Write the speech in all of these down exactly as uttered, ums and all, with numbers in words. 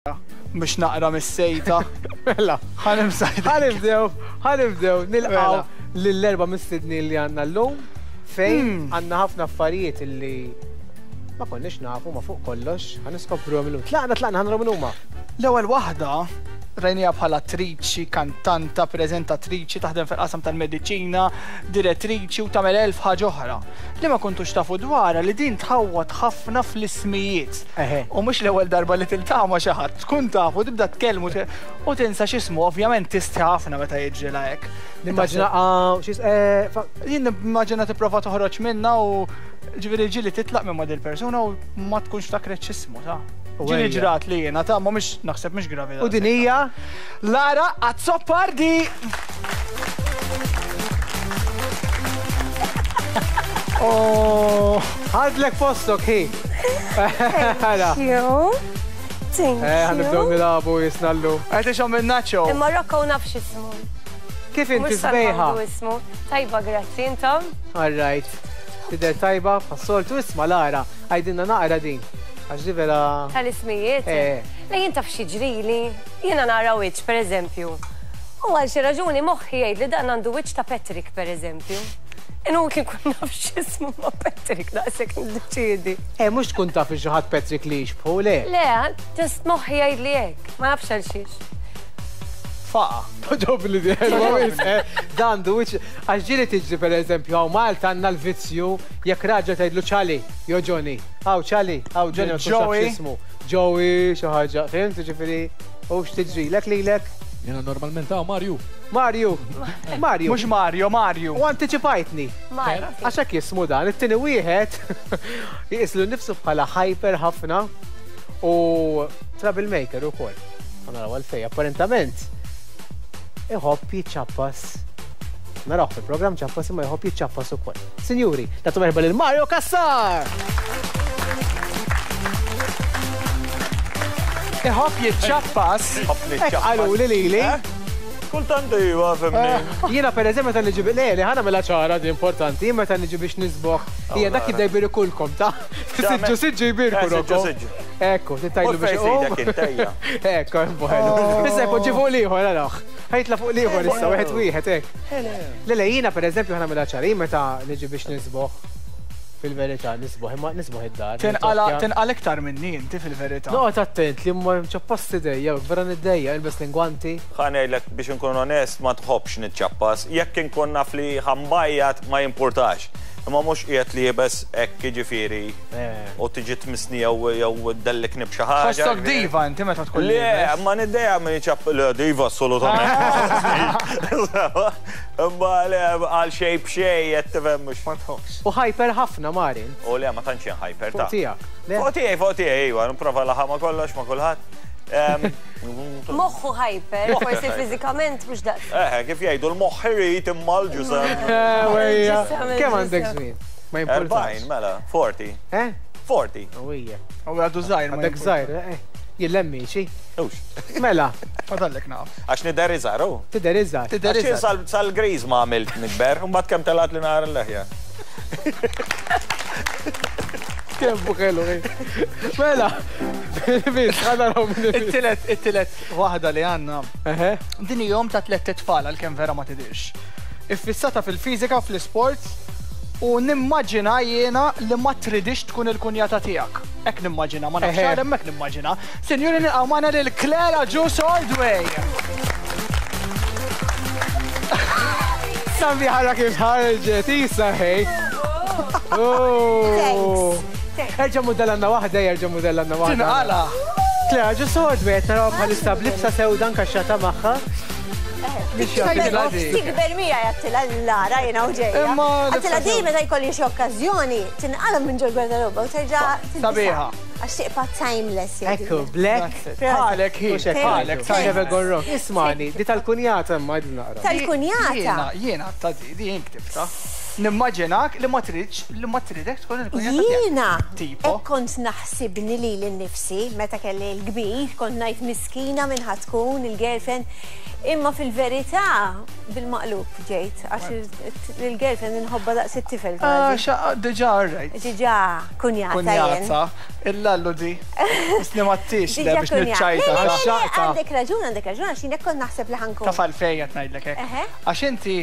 Biex naqra mis-sejta. Mela, Ħa nimsaħ. Ħa nibdew, ħa nibdew nilqgħu Mela. lill-erba' mistednin li għandna llum fejn Hmm. għandna ħafna affarijiet illi ma konniex nafu ma fuq kollox, ħa niskopruhom illum. Tlaqna, tlaqna, ħa naraw min huma. L-ewwel waħda rajnija bħala attriċi, kantanta, preżentatriċi, taħdem fil-qasam tal-mediċina, direttriċi u tagħmel elf ħaġa oħra. Li ma kontux tafu dwarha li din tħawwad ħafna fl-ismijiet. Eħe. U mhux l-ewwel darba li tiltaqa' ma' xi ħadd, tkun tafu tibda tkellmu te- u tinsa x'ismu, ovvjament tistħi ħafna meta jiġrilha hekk. Nimmaġina ah, xis eh, fa- Jien nimmaġina tipprova toħroġ minna u ġifieri ġieli titlaq minn ma' dil-persuna u ma tkunx ftakret x'ismu ta'. U Ġieli ejja. ġrat li jiena ta' ma mhux naħseb mhux gravi. U din hija Lara Azzopardi! Oh, ħadlek postok hi. Ħala. Thank you. Thank Eh, ħa nibdew you. nilagħbu jisna llum. Qed ixhom min-nacho. Imma Rocco naf x'ismu. Kif inti Mhux sbejħa? sal-għandu ismu. Tajba, grazzi, intom. All right. Tidher tajba, passoltu isma' Lara, għajdinna naqra din. Għax di vera. Tal-ismijiet. Eh. Le jien taf xi ġrili. Jiena nara wiċċ, per eżempju. U għal xi raġuni moħħi jgħid li dan għandu wiċċ ta' Patrick, per eżempju. Inhu kien kun naf x'ismu ma' Patrick daqshekk niddeċiedi. Eh, mhux tkun taf xi ħadd Patrick li jixbħu, le. Le, just moħħi jgħid li hekk. Ma nafx għal xiex. Faqa. Toġobni di, eh, dan du wiċċ. Għax ġieli tiġri per eżempju, hawn Malta għandna l-vizzju jekk raġel tgħidlu Ċali, jew Johnny. Hawn Ċali, hawn Johnny ma tkunx taf Joey. x'ismu. Joey, xi ħaġa, fhimt, ġifieri, u x'tiġri, lek lilek? Jena normalment hawn Marju. Mario, Mario. Mhux Mario, Mario. U antiċipajtni. Marti. Għax hekk jismu dan, it-tieni wieħed jqislu nnifsu bħala hyper ħafna u troublemaker ukoll. Ħa naraw għalfejn, apparentament iħobb jiċċappas. Naraw fil-programm ċappas imma jħobb jiċċappas ukoll. Sinjuri, nagħtu merħba lil Mario Cassar! Iħobb jiċċappas. Hekk qalu li lili. Kultant iva, fhimni. Jiena per eżempju meta niġi le li ħana mela ċara di importanti, jien meta niġi biex nisboħ, hija dak jibda jbirikulkom ta' siġġu siġġu jbirku Eh, siġġu, Rocco. siġġu. Ekku, tittajlu U biex fejn sidek iqum. int, ejja. Ekku, bueno. Issa jpoġġi fuq l-ieħor, araħ. Ħajtla fuq l-ieħor issa, wieħed wieħed, hekk. Le le jiena per eżempju ħana mela ċara, jien meta niġi biex nisboħ, fil-verità nisboħ, imma nisboħ id-dar. Tinqala nittokkja. tinqala iktar minni inti fil-verità. Noqgħod attent li ma ċappas idejja, vera niddejja, ilbes l-ingwanti. Ħa ngħidlek biex nkun onest ma tħobbx niċċappas. Jekk inkun naf li ħa nbajjat ma jimpurtax. Imma mhux qiegħed liebes hekk jiġifieri Eh. u tiġi tmissni jew jew ddellikni b'xi ħaġa. Tħossok diva inti meta tkun Le, liebes. ma niddejja minn ċapp le diva assolutament. Imma le għal xej b'xej qed tifhem mhux. Ma tħobbx. U hyper ħafna Marin. U le ma tantx jien hyper Fuq ta' tiegħek. Le? Fuq tiegħi, fuq tiegħi, iva, nipprova laħa ma kollox ma kulħadd. Em, Moħħu hyper, forsi fiżikament mhux daqs. Eh, kif jgħidu l-moħħ irid imma l-ġisem. Eh, wejja. Ġisem, Kemm għandek ġisem. żmien? Ma jimpurtax. Erbgħin, mela, forty. Eh? Forty. Ewwija. U għadu żgħir ma Għandek żgħir, eh. Jillemmi xi. Ux. Mela, Fadallek naf. Għax nidher iżgħar, u. tidher iżgħar. Tidher Għax jien iżgħar. sal- sal-griż ma għamilt nikber, u mbagħad kemm telat li nara l-leħja. Kemm bukellu. Mela, bis, ħa naraw minn It-tielet it-tielet waħda li għandna. Eħe. Din hi omm ta' tliet tfal għalkemm vera ma tidirx. Iffissata fil-fiżika u fl-isport u nimmaġina jiena li ma tridix tkun il-kunjata tiegħek. Hekk nimmaġina, ma nafx Eħe. għal hemmhekk nimmaġina. Sinjuri nilqgħu magħna lil Claire Agius Ordway. Sambi ħara kif ħarġet, isa ħej. Oh. Thanks. Erġa' mudell għandna waħda, erġa' mudell għandna waħda. Tinqala. Claire Agius Ordway, qed naraw bħalissa b'libsa sewda nkaxxata magħha. Biex jagħti di. Tikber mija jgħattila l-Lara jena u ġeja. Imma Għattila libsa di sew. meta jkolli xi okkażjoni, tinqala minn ġol gwardaroba u terġa' tilbisha. Sabiħa. Għax tiqpa' timeless. jgħidu. Ekku, black. Bħalek hi, Mhux hekk bħalek ngħidu. Never go timeless. wrong. Ismani, di tal-kunjata imma għidli naqra. Tal-kunjata. Jiena, jiena ta' di, di jien ktibta. Nimmaġinak li ma tridx, li ma tridek tkun il-kunjata tiegħek. Jiena, Tipo? hekk kont naħsibni li l-nifsi, meta kelli l-kbir, kont ngħid miskina minn ħatkun il-girlfriend. Imma fil-verità bil-maqlub ġejt, għax il-girlfriend inħobba daqs it-tifel. Ah, diġà, right. Diġà, kunjata. Kunjata, illallu di. Isni mattix le biex nitċajta. Għandek raġun, għandek raġun, għax jien kont naħseb li ħankun. Taf għalfejn qed ngħidlek hekk. Għax inti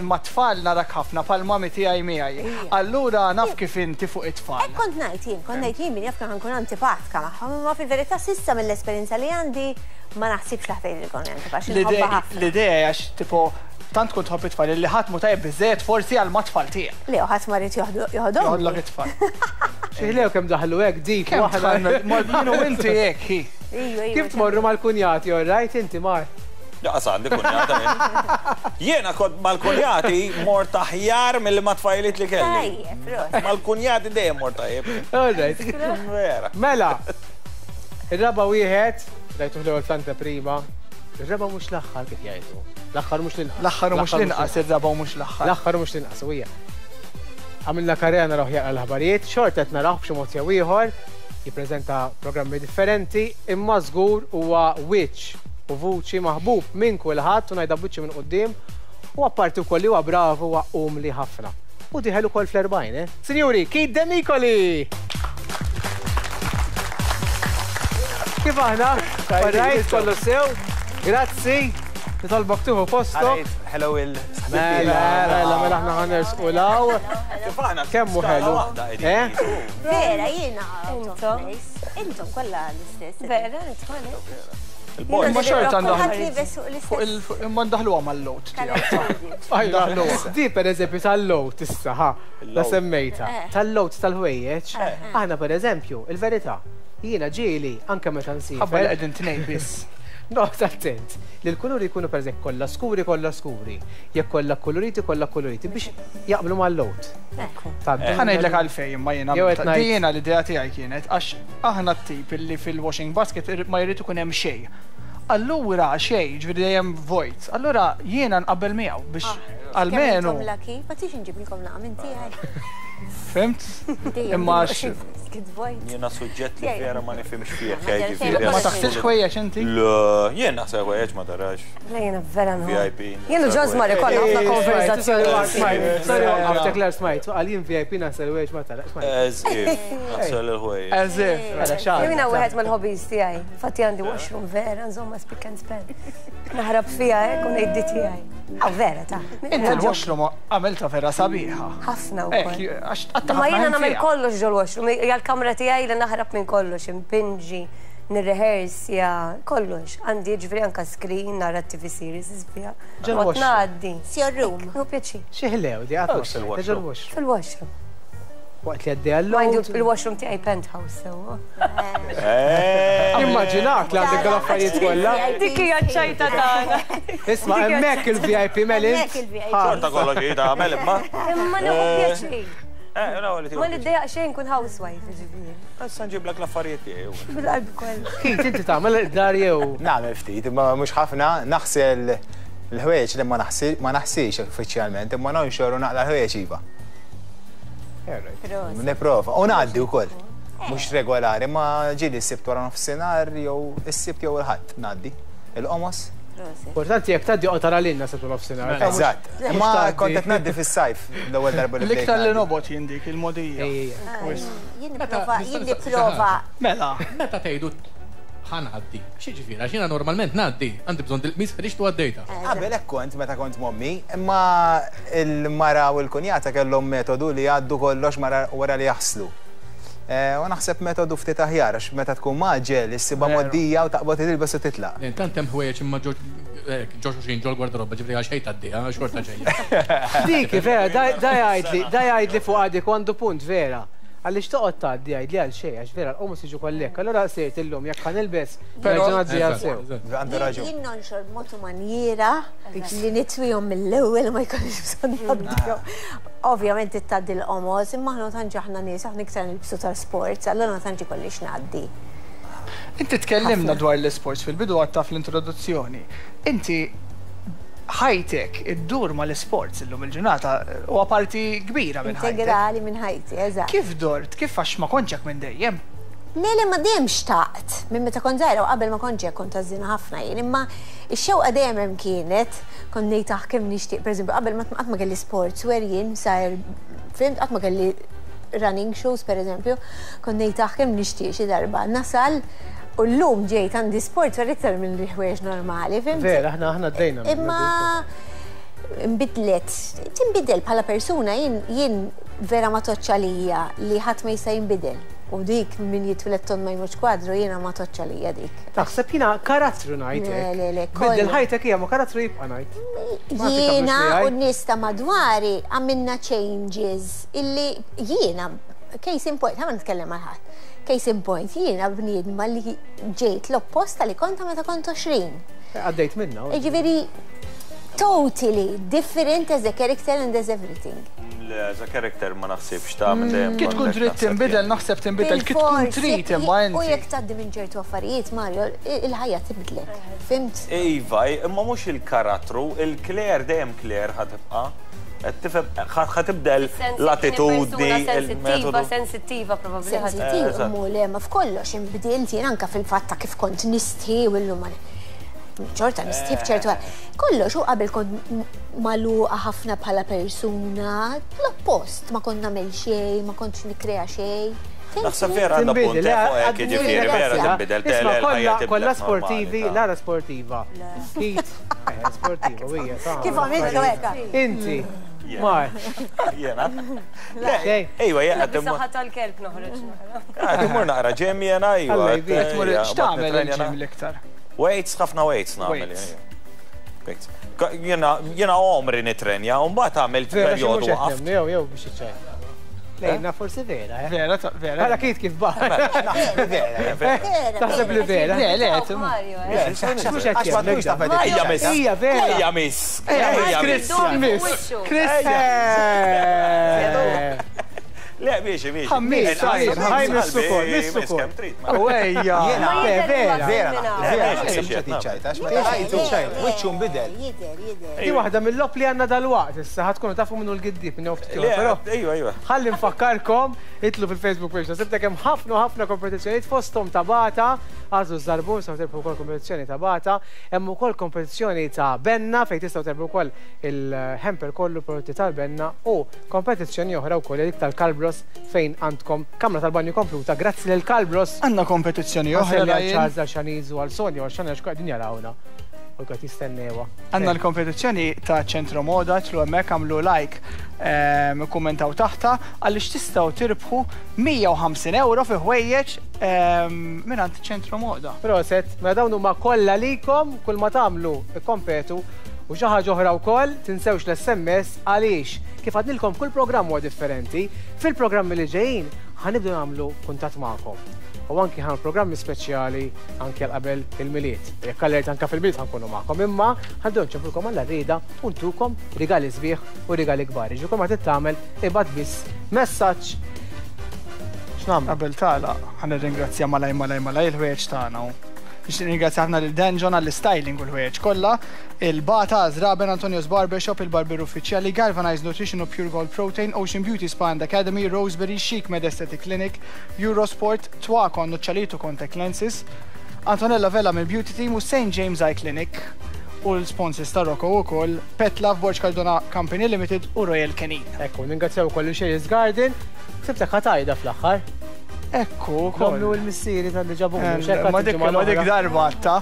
mat-tfal narak ħafna pal mami tiegħi miegħi. Allura naf kif inti fuq it-tfal. Hekk kont ngħid jien, kont ngħid jien min jaf kemm ħankun antipatka magħhom, imma fil-verità s'issa mill-esperjenza li għandi ma naħsibx li ħtejn il-kont antipatka. L-idea għax tipo tant kont tħobb it-tfal li ħadd mu tajjeb biżejjed forsi għal mat-tfal tiegħek. Le, ħadd ma rid joħodhom. Joħodlok it-tfal. Xi kemm daħlu hekk dik waħda. Jien u inti hekk hi. Kif tmorru mal-kunjati, all right, inti mar? Laqas għandi kunjata. Jiena kont mal-kunjati mort aħjar milli ma tfajliet li kelli. Mal-kunjati dejjem mort tajjeb. All right. Mela, ir-raba' wieħed, rajtuh l-ewwel fl-anteprima. Ir-raba' mhux l-aħħar kif jgħidu. L-aħħar mhux l-inqas. L-aħħar mhux l-inqas, ir-raba' mhux l-aħħar. L-aħħar mhux l-inqas, hija. Għamilna karriera naraw jaqra l-aħbarijiet, xorta qed naraw b'xi mod jew ieħor, jippreżenta programmi differenti, imma żgur huwa wiċċ u vuċi maħbub minn kulħadd u ngħidha b'wiċċi minn quddiem, u apparti wkoll li huwa bravu huwa umli ħafna. U dieħel ukoll fl-erbgħin, eh? Sinjuri, Keith Demicoli! Kif aħna? All right, kollu sew. Grazzi. Nitolbok tieħu postok. Hello il. Mela, mela, mela aħna ħanersqu law. Kemm hu ħelu? Eh? Vera, jiena. Intom. Intom kollha l-istess. Vera, intom. Imma xorta ndaħlu. Imma ndaħluha mal-lot tiegħek. Di pereżempju tal-lot issa, ħa, la semmejta. Tal-lot tal-ħwejjeġ. Aħna pereżempju, il-verità, jiena ġieli anke meta nsiefer. Ħabba li qegħdin tnejn biss. Noqgħod attent li l-kuluri jkunu pereżempju kollha skuri kollha skuri, jekk kollha kuluriti kollha kuluriti biex jaqblu mal-lot. Ħa ngħidlek għalfejn imma jiena jiena l-idea tiegħi kienet għax aħna t-tip li fil-washing basket ma jrid ikun hemm xejn. Allura xejn, ġifieri dejjem vojt. Allura jiena nqabbel miegħu biex almenu. Ma tix inġibilkom naqa' minn tiegħi. Fimt? Imma jiena suġġett li vera ma nifhimx fih. Ma taħsilx ħwejjeġ inti? Le, jien naħsel ħwejjeġ ma tarax. Le, jiena vera nħobb. V I P. Jien u Ġosmar ikollna ħafna konversazzjoni. Sorry, għaftek l smajt, għal jien V I P naħsel ħwejjeġ ma tarax. As if, naħsel il-ħwejjeġ. As if. Jiena wieħed mill-hobbies tiegħi. Infatti għandi washroom vera, nżomma speak and spell. Naħrab fiha hekk u ngħid tiegħi. Aw vera ta'. Inti l-washroom għamilta vera sabiħa. Ħafna wkoll. Ma jiena nagħmel kollox ġol-washroom, hija l-kamra tiegħi li naħrab minn kollox, impinġi, nirrehersja, kollox. Għandi ġifieri anke screen, nara T V series fiha. Ġol-washroom. Ngħaddi. It's your room. Hu pjaċir. Xi ħlew di qatt ġol-washroom. Fil-washroom. Waqt li għaddej għall-load. Mind you, il-washroom tiegħi penthouse sewwa. Immaġinak li għandek dal-affarijiet kollha. Dik hija ċ-ċajta tagħna. Isma' hemmhekk il-V I P Melin. Hemmhekk il-V I P. Xorta kollox hi tagħmel imma. Imma nieħu pjaċir. Ma niddejjaq xejn kun housewife ġifieri. Issa nġiblek l-affarijiet tiegħi. Bil-qalb kollha. Keith, inti tagħmel id-dar jew? Nagħmel ftit, imma mhux ħafna, naħsel l-ħwejjeġ li ma naħsilx uffiċjalment, imma nonxor u naqla l-ħwejjeġ iva. Niprova, u ngħaddi wkoll. Mhux regolari, ma ġieli s-sibt wara nofsinhar jew is-sibt jew il-ħadd ngħaddi. Il-qomos. Importanti jekk tgħaddi qotara lilna sibt wara nofsinhar. Eżatt. Imma kont qed ngħaddi fis-sajf l-ewwel darba li. L-iktar li nobgħod jien dik il-modija. Jien nipprova, jien nipprova. Mela. Meta tgħidu ħa ngħaddi. X'jiġifieri għax jiena normalment ngħaddi, għandi bżonn dil-qmis ħriġt u għaddejta. Qabel hekk kont meta kont mommi, imma l-mara u l-kunjata kellhom metodu li jgħaddu kollox wara li jaħslu. U naħseb metodu ftit aħjar għax meta tkun maġel issibha moddija u taqbad tilbes u titlaq. Intant hemm ħwejjeġ imma ġo xuxin ġol gwardarobba ġifri għal xejn tgħaddiha, xorta ġejja. Dik vera, da jgħidli, da jgħidli fuq għadik għandu punt vera. Għaliex toqgħod tgħaddi għidli għal xejn għax vera l-qomus jiġu kollek. Allura sirt illum jekk ħanilbes nerġa' ngħaddi għal sew. Għandu raġun. Jien nonxor b'mod u manjiera li nitwihom mill-ewwel ma jkollix bżonn ngħaddihom. Ovvjament tgħaddi l-qomos, imma aħna tantx aħna nies aħna iktar nilbsu tal-sports, allura ma tantx ikollix ngħaddi. Inti tkellimna dwar l-isports fil-bidu għatta fl-introduzzjoni. Inti ħajtek iddur ma l-isports illum il-ġurnata huwa parti kbira minn ħajtek. Integrali minn ħajti, eżatt. Kif dort? Kif għax ma kontx hekk minn dejjem? Le, le, ma dejjem xtaqt. Minn meta kont żgħira u qabel ma kont ġej kont għażżina ħafna jien, imma ix-xewqa dejjem hemm kienet, kont ngħid aħ kemm nixtieq, pereżempju, qabel ma qatt ma kelli sportswear jien sajr, fimt, qatt ma kelli running shoes pereżempju, kont ngħid aħ kemm nixtieq xi darba nasal u llum ġejt għandi sportswear iktar minn ħwejjeġ normali, fimt? Vera, aħna aħna għaddejna. Imma nbidlet, tinbidel bħala persuna, jien jien vera ma toċċa lija li ħadd ma jista' jinbidel. U dik min jitwieled tond ma jmurx kwadru jiena ma toċċa lija dik. Taħseb jiena karattru ngħid Le, hekk. le, le, Biddel kollu. ħajtek hija ma karattru jibqa' ngħid. Ma nafx Jiena tagħmlux u n-nies ta' madwari għamilna changes illi jiena, case in point, ħa ma nitkellem għal ħadd. Case in point, jiena bniedma li ġejt l-opposta li konta meta kont għoxrin. Għaddejt minna. u- Ġifieri, totally different as a character and as everything. Le, as a character ma naħsibx ta' minn dejjem. Kif tkun kont trid hekk tinbidel, naħseb naħseb tinbidel, kif tkun Bilfors, trid jekk- imma U inti. jekk tgħaddi minn ċertu affarijiet, Mario, il-ħajja tibdlek. Fimt? jien. Iva, imma mhux il-karattru, il-Claire dejjem Claire ħa tibqa'. Qed tifhem ħa tibdel l-attitudni, Sensittiva, il-metodu. sensittiva probabbli ħadd. Sensittiv, Eżatt. mu le, ma f'kollox inbdilt jien anka fil-fatt ta' kif kont nistħi u llum ma ċorta nistħi f'ċertu Kollox u qabel kont magħluqa ħafna bħala persuna, l-oppost, ma kont nagħmel xejn, ma kontx nikkrea xejn. Fimt? Naħseb vera għandha punt Tinbidel, eh, fuq hekk, għad- jiġifieri, vera Isma' tinbidel, tele, l-ħajja kollha- tibdlek Kollha normali, sportivi, ta' Lara sportiva. Kit, eh, sportiva, u hija ta' Kif għamiltu hekk? Inti, Mar, Jena. Le, Xejn. Ejwa, jena, timur Saħħa tal-kelb noħroġ. timur naqra gym jena, ejwa. Alla jbierek. eh, Tmur ejja, x'tagħmel bat nitrenja il-gym l-iktar? Weights, ħafna weights nagħmel. Weights. ejja. Weights. Ka- Jena, jena għomri nitrenja, u mbagħad għamilt vera xi perjodu mhux qed waqaft. nemnu, jew jew biex iċċaj. Lejna forsi vera, eh. Vera, ta- vera. Għala kit kif baħ. Vera, Vera. Taħseb li vera. Le, le, timur. Mario, eh. Mhux qed Għax ma jemmek tkunx taf da. qed Ejja miss. Ija vera. Ejja miss. Ejja miss. Christian, miss. Christian. Le, miexi, miexi. Ħammis, Ħaj, ħaj, miss ukoll, miss miss ukoll. kemm trid. ma. U ejja. Jiena, Ma jidher vera, huwa Vera, kriminali. vera, Le, naħseb miexi, mhux qed jiċċajta, għax meta Le, rajtu le, le, wiċċu nbidel. Jidher, jidher. Di waħda mill-lop li għandna dal-waqt, issa ħatkunu tafu minnu l-giddib minn ftit Le, però Ejwa, ejwa. ħalli nfakkarkom, itlu fil-Facebook page, sibtek hemm ħafna u ħafna kompetizzjonijiet fosthom ta' Bata, għażlu żarbun, sew terbħu wkoll kompetizzjoni ta' Bata, hemm ukoll kompetizzjoni ta' Benna fejn tistgħu terbħu wkoll il-hamper kollu prodotti tal-Benna u kompetizzjoni oħra wkoll dik tal-Kalbros fejn għandkom kamra tal-banju kompluta grazzi lil Kalbros. Għandna kompetizzjoni oħra Għal Ryan. Charles għal Shaniz u għal Sonja u għal Shania x'qegħdin jarawna. U qed jistennewa. Għandna l-kompetizzjoni ta' Ċentro Moda, tlu hemmhekk għamlu like, ehm, kummentaw taħta, għaliex tistgħu tirbħu mija u ħamsin euro fi ħwejjeġ ehm, mingħand Ċentro Moda. Proset, mela dawn huma kollha likom, kull ma tagħmlu ikkompetu u xi ħaġa oħra wkoll tinsewx l-S M S għaliex kif għadnilkom kull programm huwa differenti, fil-programmi li ġejjin ħanibdew nagħmlu kuntatt magħkom. U anki ħan programmi speċjali anki għal qabel il-Milied. Jekk allert anke fil-Milied ħankunu magħkom, imma ħandew nċempulkom għall rieda u ntukom rigali sbieħ u rigali kbar. Ġifieri ma tittamel ibad biss messaġġ. X'nagħmlu? Qabel tagħlaq ħa nirringrazzja malaj malaj malaj il-ħwejjeġ tagħna. Nixtieq nirringrazzja ħafna lil Danjon għall-styling u l-ħwejjeġ kollha, il-Bata, Zraben, Antonio's Barbershop, il-Barber Uffiċjali, Galvanized Nutrition u Pure Gold Protein, Ocean Beauty Spa and Academy, Roseberry, Chic Med Aesthetic Clinic, Eurosport, Twakon, Nuccialito Contact Lenses, Antonella Vella mill Beauty Team u Saint James Eye Clinic u l-sponsors ta' Rocco wkoll, Pet Love, Borg Cardona Company Limited u Royal Canin. Ekku, ningrazzjaw ukoll lil Sherry's Garden. Sibtek ħatajda fl-aħħar. Ekku, Komlu ukoll. l-missieri tal-li ġabuni, Eh, mhux hekk Ma dik għad ma dik il-ġimgħa l-oħra. darba għatta.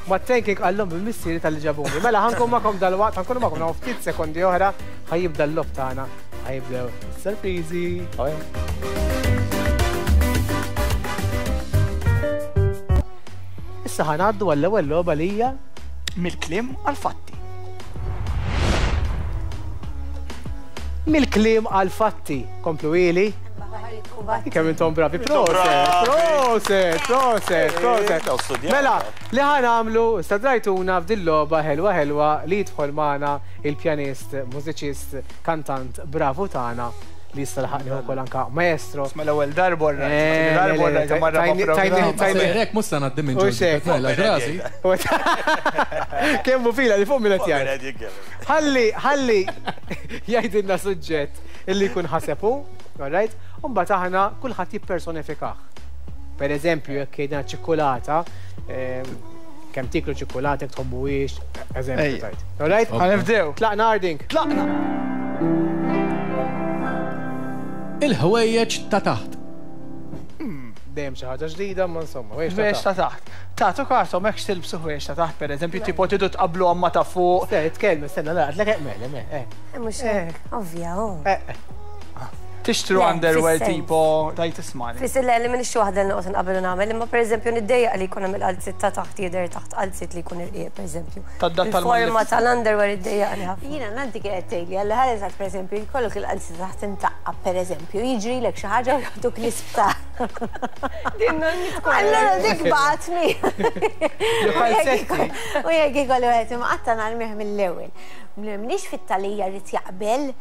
Ma t-tanking għallum bil-missieri tal-li ġabuni. Mela ħankun magħkom dal-waqt, ħankun magħkom naw ftit sekondi oħra, ħajibda l-lob tagħna, ħajibdew is-sorpriżi. Issa ħanaddu għall-ewwel logħba li hija mill-kliem għal-fatti. Mill-kliem għal-fatti. Komplu ili. Kemm intom bravi. Proset, proset, proset, proset. Mela, li ħanamlu, stadrajtuna f'dil logħba ħelwa ħelwa li jidħol magħna il-pjanist, mużiċist, kantant bravu tagħna li jista' laħaqni wkoll anka maestro. Mela l-ewwel darba Eh, darba le, le, rajt, marra tajni- ma' tajni- programm. tajni- Sejrek mhux se ngħaddi minn U ġoddi. xek. Mela, rasi. Kemm hu fila li fuq minn qed jgħid. Ħalli, ħalli jgħidilna suġġett illi jkun ħasebu, all right? U mbagħad aħna kulħadd jippersonifikah. Per eżempju, jekk jgħidna ċikkulata, kemm tiklu ċikkulata, jekk tħobbuhiex, eżempju tajt. All right? Ħa nibdew. Tlaqna Harding. Tlaqna. Il-ħwejjeġ ta' taħt. Dejjem xi ħaġa ġdida, ma insomma, ħwejjeġ ta' taħt. Tagħtu kasom hekk tilbsu ħwejjeġ ta' taħt, pereżempju, tipo tidu tqabblu għamma ta' fuq. Tkellem, stenna, laqgħet mela, mela. Mhux hekk, ovvja, oh. Tixtru underwear tipo, tajt ismani. Fisser li minix waħda li noqgħod nqabel u nagħmel, imma pereżempju niddejjaq li jkun hemm il-qalzit ta' taħt jidher taħt qalzit li jkun irqiq pereżempju. Il-forma tal-underwear iddejjaqni ħafna. Jiena nanti kienet tgħidli għal ħares pereżempju jkollok il-qalzit taħt imtaqqa pereżempju, jiġrilek xi ħaġa u jagħtuk l-isptar. Din nonni tkun. Allura dik baqgħet mi. U jekk ikollu qed imqatta' narmih mill-ewwel. M'iniex fit-talija rrid jaqbel.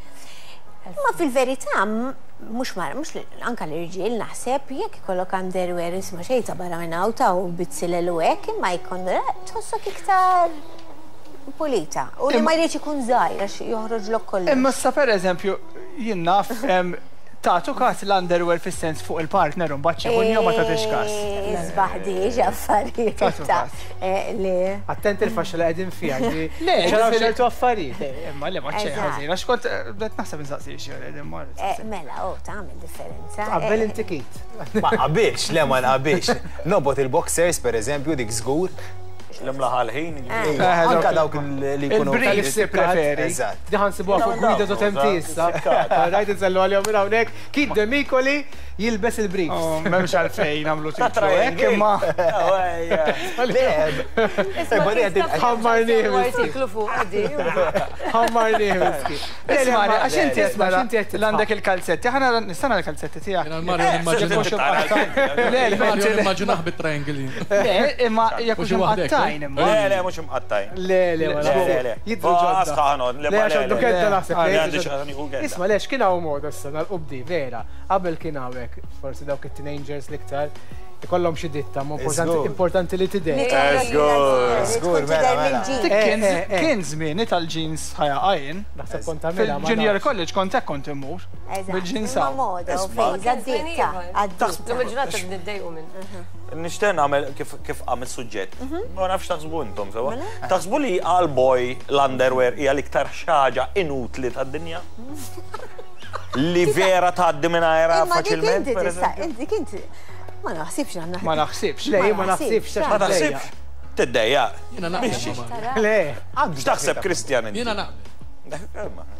Ma fil-verità, mhux mhux anka l-irġiel naħseb jekk ikollok underwear isma' xejn ta' barra minn hawn ta' u bizzilel u hekk, imma jkun tħossok iktar pulita. U li ma jridx ikun żgħir għax joħroġlok kollox. Imma issa pereżempju jien naf tagħtu każ l-underwear fis-sens fuq il-partner u mbagħad xi jew ma tagħtix każ. Isbaħ diġ affarijiet. Le. Attent il-faxxa li qegħdin fiha. Le, ċaraw ċertu affarijiet. Imma le ma xejn ħażin għax kont bdejt naħseb insaqsi xi qegħdin mar. Mela, oh, tagħmel differenza. Qabel inti kit. Ma qabilx, le ma nqabilx. Nobot il-boxers pereżempju dik żgur. L-imlaħal ħin. Anka dawk li jkunu. Il-briefs preferi. Eżatt. Diħan sibuha fuq gwida dot M T issa. Rajt insellu għalihom minn hawnhekk. Kid Demicoli jilbes il-briefs. M'hemmx għalfejn nagħmlu titlu hekk imma. Le. Ħammarni. Artiklu fuq di. Ħammarni. Isma' għax inti isma' għandek il-kalzetti. Aħna nistana l-kalzetti tiegħek. Le, Mario nimmaġinah bit-triangle. Le, imma jekk hux imqattajn. Le, le, mhux imqattajn. Le, le, le. Jidru ġodda. Le, le, għax kedda naħseb. Isma' lex kien hawn moda issa nal-qubdi, vera. Qabel kien hawnhekk, forsi dawk it-teenagers l-iktar, ikollhom xi ditta, ma importanti li tidher. Żgur, mela, mela. Kien żmieni tal-jeans ħajaqajn. Naħseb kont tagħmilha. Fil-junior college kont hekk kont immur. Bil-jeans hawn. Moda u fejn, għaddieta. Lum il-ġurnata niddejqu minn. Nixtieq nagħmel kif għamil suġġett. Ma nafx taħsbu intom sewa. Taħsbu li għal boy l-underwear hija l-iktar xi ħaġa inutli tad-dinja? Li vera tgħaddi mingħajrha faċilment. Inti inti ma naħsibx għandna. Ma naħsibx. Le, ma naħsibx. Ma taħsibx. Tiddejjaq. Jiena naqbel. Le. X'taħseb Kristjan inti? Jiena naqbel.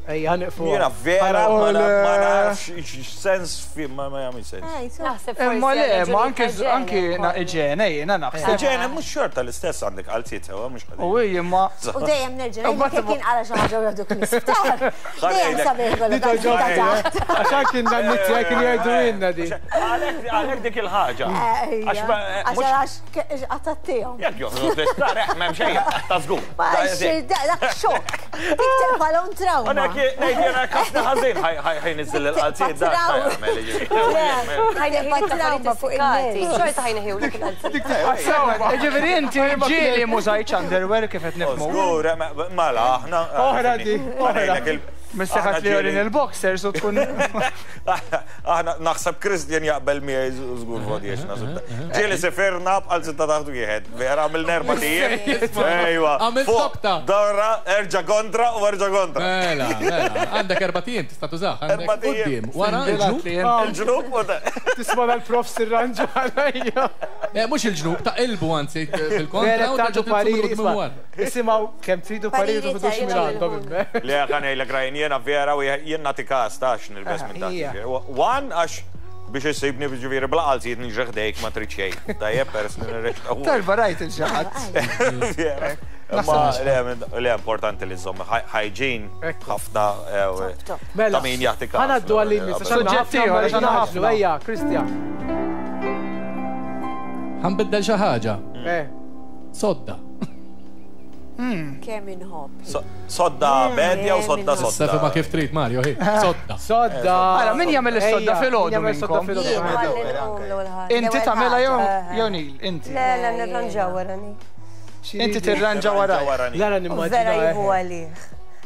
Ejja, ħaniqfu. Jiena vera ma nafx sens fi ma jagħmel sens. Naħseb Imma le, ma anke anke iġene jiena naħseb. Iġene mhux xorta l-istess għandek qalziet sewa mhux ħażin. U hi imma. U dejjem nerġa' ngħidlek kien qara xi ħaġa u jagħduk l-isptar. Dejjem sabiħ ikollok qalziet ta' taħt. Għax anke n-nanniet kien jgħidu lilna di. Għalhekk dik il-ħaġa. Għax għax qatattihom. Jekk joħroġ l-isptar m'hemm xejn ta' żgur. Dak xokk. Dik tibqa' trauma. Għana ngħid jiena ħafna ħażin ħaj niżel il-qalziet dak ħajneħi trauma fuq il-kalzi. Xorta ħajneħi il-qalziet. Ġifieri inti ġieli mużajċ underwear kif qed nifhmu. Żgur, mela aħna. Oħra di, oħra. Mistaħat li jorin il-boxers u tkun. Aħna naħseb Kristjan jaqbel miegħi żgur fodiex naħseb. Ġieli sefirna b'qal sitta taħt wieħed. Vera għamilna erba' tijiem. Ejwa. Għamil tokta. Dorra, erġa' kontra u erġa' kontra. Mela, mela. Għandek erba' tijiem tista' tużah. Erba' tijiem. Wara il-ġnub. Il-ġnub u Tisma' dal-prof sirranġa għalajja. Mhux il-ġnub, ta' ilbu anzi fil-kontra u terġa' pariri. Isimgħu kemm tridu pariri u tħudux minn għandhom. Le ħanejlek rajn jiena vera u jien nagħti każ ta' għax nilbes minn taħt. One għax biex issibni ġifieri bla qalziet niġri ħdejk ma trid xejn. Tajjeb peress li nirrexta. Darba rajt il-ġaħat. Ma le importanti li żomm hygiene ħafna ta' min jagħti każ. Ħa ngħaddu għall-imiss għax Suġġett ieħor għax għandna ħafna. Ejja, Kristjan. Ħanbiddel xi ħaġa. Sodda. Kemm inħobb. Sodda medja u sodda sodda. Sefi ma kif trid Mario, hi. Sodda. Sodda. Ara, min jagħmel is-sodda filgħodu minnkom? Inti tagħmilha jew Neil, inti. Le, le, nirranġaw wara ni. Inti tirranġa wara. La, la, nimmaġina. Vera jieħu għalih.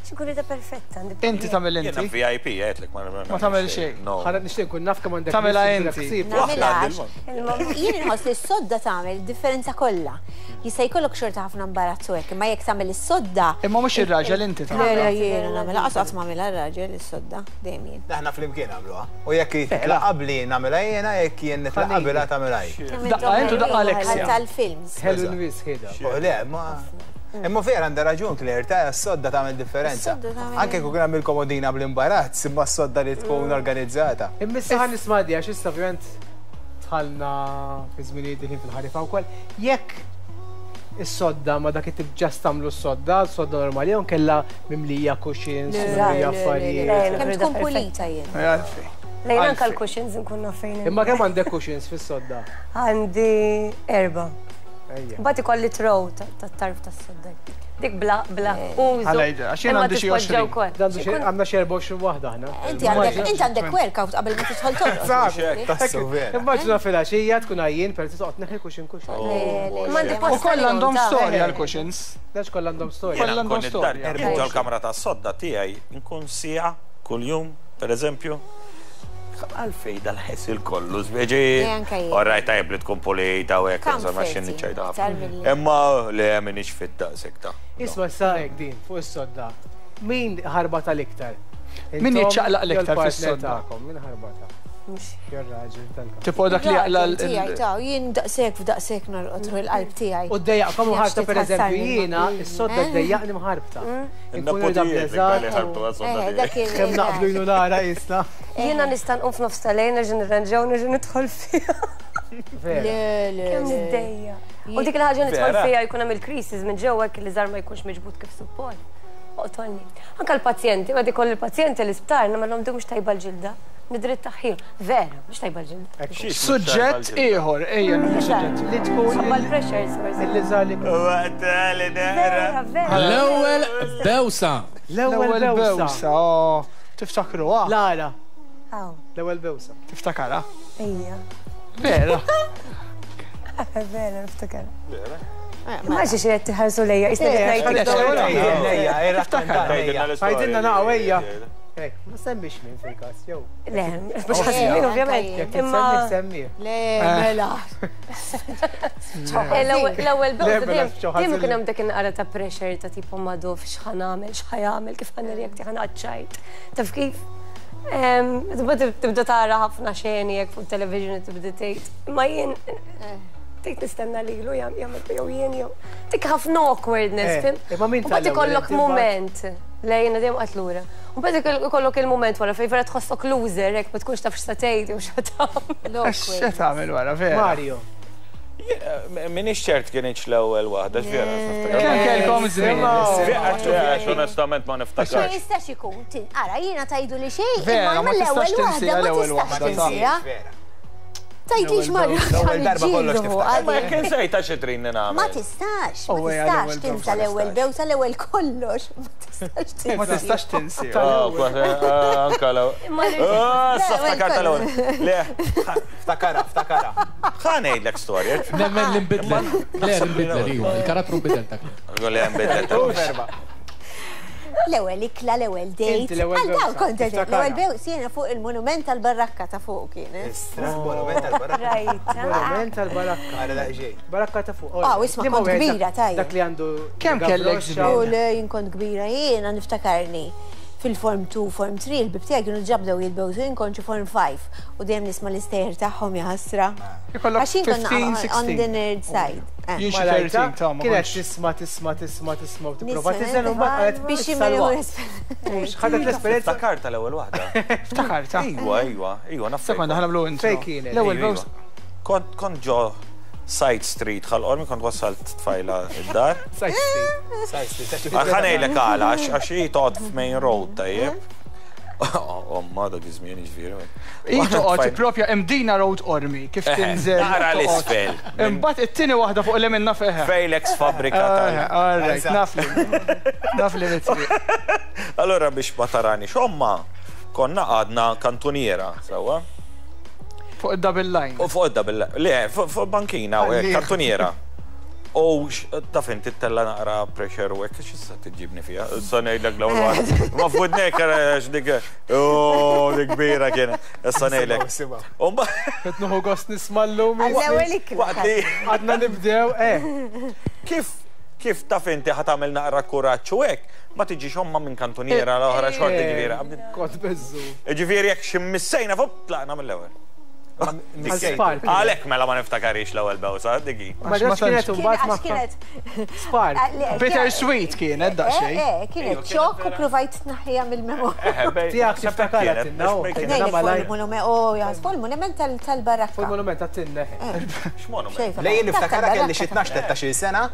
Xi da perfetta. Inti tagħmel Jiena inti. V I P, għedtlek ma Ma tagħmel xejn. No. Ħana nixtieq nkun naf kemm għandek. Tagħmilha nies inti. ħsieb. Nagħmilha Waħda Jien inħoss li s-sodda tagħmel differenza kollha. Jista' jkollok xorta ħafna imbarazzu hekk, imma jekk tagħmel is-sodda. Imma mhux ir-raġel, inti Le, tagħmel. le, jiena nagħmilha, qatt qatt m'għamilha r-raġel is-sodda, dejjem jien. Aħna flimkien nagħmluha. U jekk titlaq qabli nagħmilha jiena, jekk jien nitlaq qabilha tagħmilha hi. Daqqa intu, daqqa Alexia. Tal-films. Ħelu nwis ħida. Oh, le, ma. Imma vera għandha raġun Claire, ta' s-sodda tagħmel differenza. Is-sodda tagħmel- Anke kieku nagħmel komodina bl-imbarazz, imma s-sodda li tkun organizzata. Imma issa ħa nisma' di għax issa ovvjament dħalna fi żminijiet diħlin fil-ħarifa wkoll. Jekk is-sodda ma dak it-tip ġast tagħmlu s-sodda, s-sodda normali jew kella mimlija cushions, mimlija affarijiet. Kemm tkun pulita jien. Għalfej. Lejn anka l-cushions nkun naf fejn. Imma kemm għandek cushions fis-sodda? Għandi erba. Ejja. Mbagħad ikolli throw tat-tarf tas-sodda. Dik bla bla użu. Ħalejda, għax jien Imma għandi xi tispoġġa għoxrin. wkoll. Għandu xi- Għandna xi erbgħa u għoxrin waħda aħna. Inti għandek inti għandek workout qabel ma tidħol torqod. Tassu vera. Immaġina filgħaxija tkun għajjien per toqgħod neħi cushion cushion. Imma għandi U post kollha għandhom ta' storja l-cushions. Dax kollha għandhom storja. Kollha Jiena għandhom nkun id-dar, storja. nkun ġol-kamra ta' sodda tiegħi, nkun siegħa kuljum, per eżempju. Għalfej dal-ħesil kollu, speċi. Le, anke jien. Orrajt, tajb li tkun pulita u hekk, insomma, Comforting, xinni ċajta iktar ħafna. milli- Imma le minix fit-daqsek ta' Isma' sa hekk din fuq is-sodda. Min ħarbata l-iktar? Min Intom jiċċaqlaq jew l-iktar l-partner fis-sodda? tagħkom? Min ħarbata? Jew raġel tal-każ. Tipo dak li jaqla Raġel tiegħi ta' jien daqshekk f'daqshekk norqod ruħ il-qalb tiegħi. U d-dejjaqkom mħarbta per eżempju, Jien jiena is-sodda d-dejjaqni mħarbta. Inkun irda Il-nepotijiet Eh, dak il- Kemm naqblu jnu nara jisna. Jiena nista' nqum f'nofs tal-lejl nerġa' nirranġaw nerġa' nidħol fiha. Vera. Le, le, Kemm le. niddejja. U dik il-ħaġa nidħol Vera? fiha jkun hemm il-creases minn ġewwa hekk li żar ma jkunx miġbud kif suppost. Oqtolni. Anka l-pazjenti, ma dik l-pazjenti l-isptar nagħmilhom di mhux tajba l-ġilda. Nidrit taħħil. Vera, mhux tajba l-ġilda. Suġġett ieħor, ejja, suġġett. Li tkun Ħabba l-pressures, forsi. illi żali. Waqt li Vera, vera. L-ewwel bewsa. L-ewwel bewsa. bewsa, oh, tiftakruha? Lara, Aw, l-ewwel bewsa. Tiftakara? ejja. Vera. Vera, niftakar. Ma xi xi qed tiħarsu lejja, jisna Eh, qed ngħid. Ejja, irrakkonta. Għajdilna naqgħu ejja. Hekk, ma semmix min fil-każ, jew. Le, mhux ħażin ovvjament. Jekk Imma tsemmi semmi. Le, mela. Eh, l-ewwel l-ewwel Le, bewsa mela, dejjem xi ħażin. dejjem ikun hemm dak in-naqra ta' pressure ta' tipo maduf x'ħa nagħmel, x'ħa jagħmel, kif ħa nirreakti, ħa naqgħod. Taf kif? Em, Tibda tibda tara ħafna xeni hekk fuq television u tibda tgħid. Imma jien tgħid nistenna lilu jagħmel jew jien jew. Dik ħafna awkwardness, Eh, fim? imma min U mbagħad tal-ewwel, ikollok inti mbagħad? moment. Le, jiena dejjem qatt lura. U mbagħad ikollok il-moment wara fejn vera tħossok loser hekk ma tkunx taf x'se tgħid jew x'se tagħmel. X'se tagħmel wara, vera? Mario. Minix ċert kienieċ l-ewwel waħda, vera. Kemm kellkom żmien? Għax onestament ma Ma niftakarx. jistax ikun, tin- ara, jiena tajdu li xejn, Vera, imma ma l-ewwel tistax waħda tinsiha ma l-ewwel tistax waħda, ta' tinsiha. Vera. Tajdix marru L-ewwel darba kollox tiftakar. Ma jekk insejta xi tridni Ma nagħmel. tistax, Oh, ma ejja, tistax l-ewwel tinsa bewsa. l-ewwel bewsa, l-ewwel kollox. Ma tistax tinsa. Ma tistax tinsi. Ah, kważi, ah, anka l Imma li- Ah, sa L-ewwel ftakart l-ewwel. Le, Ftakara, ftakara. ħa ngħidlek storja. Nemmen li nbidlet. Le, nbidlet, iva. Il-karattru nbidel ta' Le, nbidlet. Verba. L-ewwel ikla, l-ewwel date. Inti l-ewwel Għal daw bewsa, kont qed tiftakara. l-ewwel bewsa jiena fuq il-monument tal-barrakka ta' fuq kienet. Istra, monument tal-barrakka. Rajt. Monument tal-barakka. Għara daqxejn. Barakka ta' fuq. Ah, isma' Liema kont wieħed kbira, dak- tajjeb. Dak li għandu. Kemm kellek gabroxxa. żmien? U le jien kont kbira jiena niftakarni fil-form two, form three, il-ħbieb tiegħi kienu ġabdew jitbewsu, jien kont xi form five u dejjem nisma' l-istejjer tagħhom jaħasra. Ikollok Għax jien kont fifteen, on the sixteen. nerd side. Eh. Jien xi Malajta, thirteen ta' ma Kienet kontx. tisma' tisma' tisma' tisma' u tipprova Nisma' tiżen u mbagħad qalet biex issa l-waqt. imur Ħadet l-esperjenza Ftakart tal-ewwel waħda. Ftakarta. Iwa, iwa, iwa, naf. Sekonda, ħa nagħmlu intro. Fejn kienet? L-ewwel Iva, bewsa. iva. Kont kont ġo Side Street Ħal Qormi, kont wassalt tfajla id-dar. Side Street. Sajsti, taċi. Ħa ngħidlek għala, għax għax hi toqgħod f'Main Road, tajjeb. Omma dak iż-żmien jiġifieri. Hi toqgħod propja Imdina Road Qormi, kif tinżel. Nara toqgħod. l-isfel. Imbagħad it-tieni waħda fuq li minna feħe. Fejlex fabrika tal. All right, naf li. Naf li mitri. Allora biex ma tarani xomma, konna għadna kantuniera, sewwa? Fuq id-double line. U fuq id-double, le, fuq fuq bankina, u hekk, kantuniera. U taf inti tella naqra pressure u hekk x'issa tiġibni fiha. Issa ngħidlek l-ewwel waħda. Ma fudnek għax dik. Oh, dik kbira kienet. Issa ngħidlek. U mbagħad Qed nieħu gost nisma' llum. Għall-ewwel ikla. waqt li Għadna nibdew, eh. kif kif taf inti ħa tagħmel naqra kuraġġ u hekk, ma tiġix omma minn kantuniera l-oħra xorta ġifieri. Kont beżżu. Ġifieri jekk xi missejna fuq tlaqna mill-ewwel. Għal-spark. Għalhekk mela ma niftakarix l-ewwel bewsa, diki. Ma ġax kienet Kien- imbagħad Għax ma kienet. Spark. Bitter sweet kienet daqsxejn. Eh, eh, kienet xokk u provajt tnaħħija mill-memorja. Tiegħek tiftakar tinna. Nejlek fuq il-monument, oh, jas, fuq il-monument tal- tal-barakka. Fuq il-monument għat-tinna. X'monument? Xejfa. Lejn niftakara kelli xi Tal-barakka. tnax tlettax-il sena,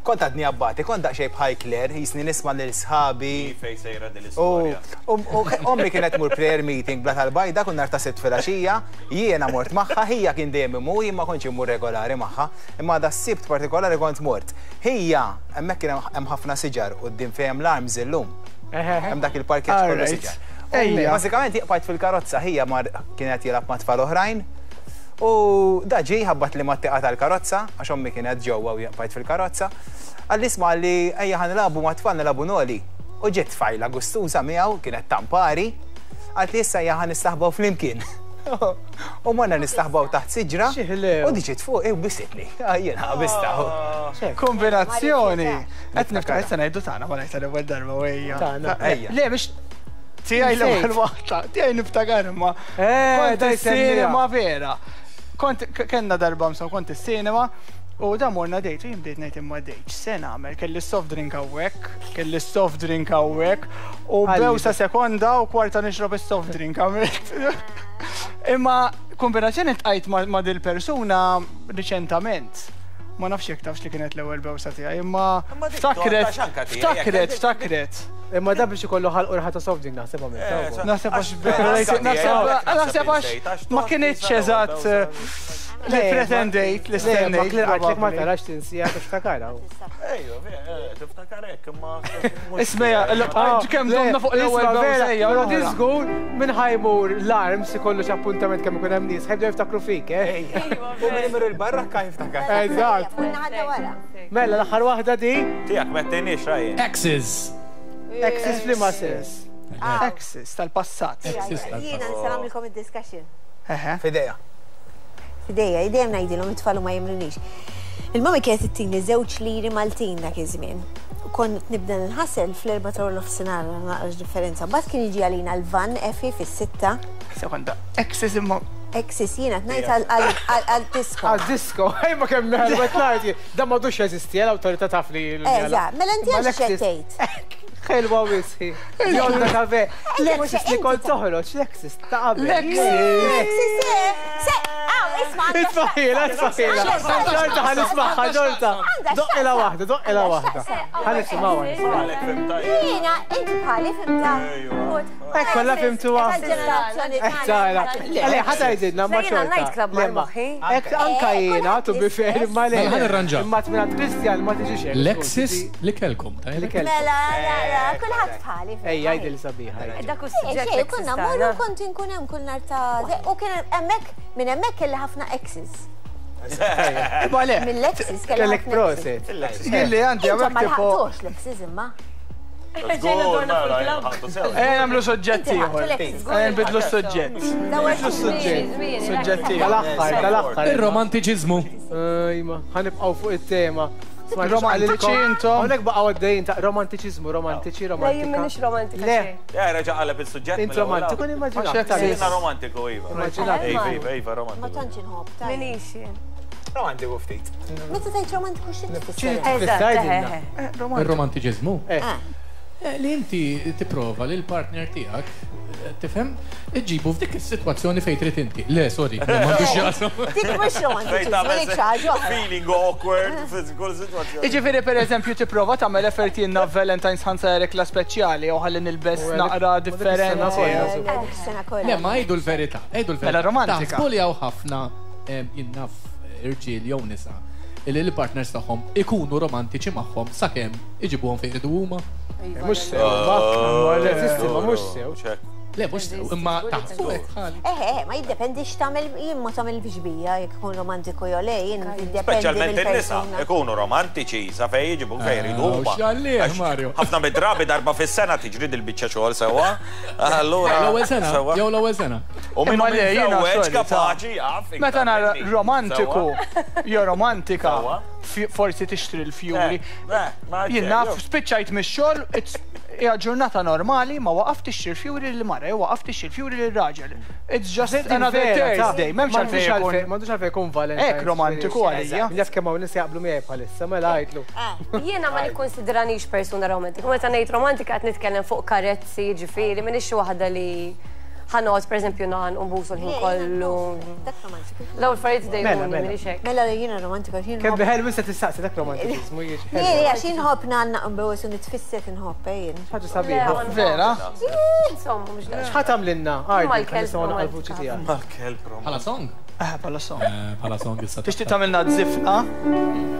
kont għadni abbati, kont daqsxejn bħal Claire, jisni nisma' lil sħabi. Fej sejra din U l-istorja. u- u ommi kienet mur prayer meeting bla tal-bajda kun nar ta' sitt filgħaxija, jiena mort magħha, hija kien dejjem imur, jien ma kontx immur regolari magħha, imma da sibt partikolari kont mort. Hija, hemmhekk kien hemm ħafna siġar quddiem fejn l-arms illum. Hemm dak il-parkeġġ kollu Alright. siġar. Ejja. Bażikament jiqbajt fil-karozza, hija mar kienet jilgħab ma' tfal oħrajn. U da ġi ħabbat li ma tieqa tal-karozza, għax ommi kienet ġewwa u jaqbajt fil-karozza. Għalli isma' li ejja ħa nilagħbu ma' tfal nilagħbu noli. U ġiet tfajla gustuża miegħu, kienet tampari, għalt li issa ejja ħa nistaħbaw flimkien. U morna nistaħbaw taħt siġra. Xi ħlew. U diġiet fuq, u bisitni. Jiena bista. Kombinazzjoni. Qed niftakar issa ngħidu tagħna ma ngħid l-ewwel darba u ejja. Tagħna. Ejja. Le mhix tiegħi l-ewwel waħda, tiegħi niftakar imma. Eh, Kont daj is-cinema vera. Kont kellna darba msa kont is-cinema u da morna dejt u jien bdejt ngħid imma dejt x'se nagħmel kelli soft drink hawnhekk, kelli soft drink hawnhekk u Għalli. bewsa sekonda u kwarta nixrob is-soft drink għamilt. Imma kombinazzjoni tqajt ma' ma' dil-persuna riċentament. Ma nafx jekk tafx li kienet l-ewwel bewsa tiegħi, imma Imma dik ftakret, toqgħodx anka tiegħi, ftakret, jekk- ftakret. Imma da biex ikollu ħalq urħa ta' soft drink naħseb għamilt. Naħseb għax Għax- naħseb naħseb għax ma kienitx eżatt eh, li pretendejt, li Le, ma stennejt. Claire għatlek ma probabbli. tarax tinsija tiftakara. Ejju, tiftakar hekk imma. Ismeja, kemm domna fuq l-ewwel bewsa ejja, Però l-oħra. di żgur minn ħajmur l-arms ikollu xi appuntament kemm ikun hemm nies, ħajbdew jiftakru fik, eh? U minn imur il-barrakka jiftakar. Eżatt. Kunna ħadda wara. Mela l-aħħar waħda di, Tiegħek mettinix rajjen. Exes. Exes f'liema sens. Exes tal-passat. Exes tal-passat. Jiena nista' nagħmilkom id-discussion. Eħe. Fidejja. Fidejja, dejjem ngħidilhom it-tfal u ma jemrunix. Il-mami kienet ittini żewġ liri Maltin dak iż-żmien. U Kont nibda nħasel fl-erba ta' nofsinhar naqrax differenza. Mbagħad kien jiġi għalina l-van Efi fis-sitta. Sekonda, exes imma Exes jiena tnajt għal-disco. Għal disco, ej ma kemm ħelwet ngħid, da m'għadux jeżisti, l-awtorità taf li. Eżatt, mela inti Ma għax l-exes- xettejt. Ħelwa wisħi. Jonda ta' ve. mhux L-exes li inti kont ta' toħroġ, l-exes ta' qabel. L-exes. Exes, eh, se, aw, isma' għandha Itfaħila, itfaħila. Xorta ħa nismagħha, xorta. Għandha Doqqila x'taqsam. waħda, doqqila Għandha waħda. x'taqsam. Ħa nisimgħuha. Għalek fimta. Jiena, inti bħali fimta. Hekk kollha fimtuha. Tal-ġenerazzjoni Tara, għale, ħata jgħidilna ma Se jiena xorta. night club mar Le, ma- moħħi. Ek anka Eh, jiena, to be fair, ma le. Mela, ħa nirranġaw. Imma minn Christian ma tiġix hekk. L-exes li kelkom, Li tajjeb? kelkom. Mela, la, la, kulħadd bħali. Ej, jgħidil sabiħa. jgħidil. Dak u Xej, suġġett xej, l-exes konna tagħna. morru kont inkun hemm kull nar ta' u kien hemmhekk minn hemmhekk kelli ħafna exes. Imma le, Mill-exes kelli Kellek ħafna exes. proset. jien li għandi Intom hawnhekk ma tipo. lħaqtux l-exes imma. Ġejna dorna fuq il-club. Ejja nagħmlu suġġett Inti ħadtu ieħor. l-exes. Ejja nbidlu s-suġġett. Dawar Suġġett. Suġġett ieħor. Tal-aħħar, tal-aħħar. Il-romantiċiżmu. Ejma, ħanibqgħu fuq it-tema. Romantiċi intom? Hawnhekk baqgħu għaddejjin ta' romantiċiżmu, romantiċi, Le, jien romantika. m'iniex romantika Le. xejn. Ja, reġa' qaleb il-suġġett. Int romantiku nimmaġinak. Għax ta' Jiena romantiku, iva. Immaġinak. Iva, iva, iva, Ma romantiku. tantx inħobb. ta' Minix jien. Romantiku ftit. Meta tgħid romantiku xi tfisser? Eżatt, Tgħidilna. eħe, eħe. Il-romantiċiżmu. Eh. Eh, Li inti tipprova li l-partner tiegħek, eh, tifhem, iġibu f'dik is-sitwazzjoni fejn trid inti. Le, sorry, le, m'għandux jaqsam. Dik mhux romantiċiżmu, dik xi ħaġa oħra. Feeling awkward f'kull sitwazzjoni. Iġifieri per eżempju tipprova tagħmel effort jiena Valentine's ħansa rekla speċjali jew ħalli nilbes U għalik- naqra ma dik is-sena differenti. kollha. Dik is-sena kollha. Le, ma għidu l-verità, għidu l-verità. Mela romantika. Taħsbu li hawn ħafna em, jien naf irġiel jew nisa illi l-partners tagħhom ikunu romantiċi magħhom sakemm iġibuhom fejn iridu huma. Mhux sew, ma. Teżisti, ma mhux sew. Ċek. Le, mhux sew, imma taħsbu hekk bħali. Eh, eh, ma jiddependi x'tagħmel, jien ma tagħmel biex bija jekk ikun romantiku jew le, jien jiddependi Speċjalment in-nisa mill-persuna. ikunu romantiċi sa fejn jiġibu fejn jridu Ah, huma. x'għalih, Għax Mario. Ħafna mid-drabi darba fis-sena tiġri dil-biċċa xogħol sewwa. Allura. L-ewwel sena, sewwa. jew l-ewwel sena. U minn Imma le, jiena, miżewweġ sorry, ta' kapaċi jaf. iktar Meta nara minni. romantiku, Sewwa. jew romantika, Sewwa. fi- forsi tixtri l-fjuri. Eh, eh, ma Jien naf, spiċċajt mix-xogħol, it's- hija ġurnata normali, ma waqaf tixtri l-fjuri lil mara, jew waqaf tixtri l-fjuri lil raġel. It's just another Thursday, m'hemmx għalfejn ikun. M'għandux għalfejn ikun Valentine's. Hekk romantiku għalija. Jaf kemm hawn nies jaqblu miegħi bħalissa, mela għidlu. Jiena ma nikkonsidranix persuna romantika. Meta ngħid romantika qed nitkellem fuq karezzi, ġifieri, m'iniex xi waħda li ħa noqgħod pereżempju nan u nbusu l-ħin kollu. Dak romantiku. L-ewwel affarijiet Mela, dejjuni mela. m'iniex hekk. Mela jiena romantika, jien Kemm nħobb. ħelu se tistaqsi dak romantiżmu jiġi. Jien għax jien nħobb nanna nbewes u nitfisset inħobb eh, jien. Ħaġa sabiħa. Vera? Insomma, mhux daqs. X'ħa tagħmlilna? Ardi, Mal-kelb nisimgħu naqra l-vuċi romantika. tiegħek. Mal-kelb romantiku. Bħala song? Eh, bħala song. Eh, Bħala song issa. Tixtieq tagħmilna żifna?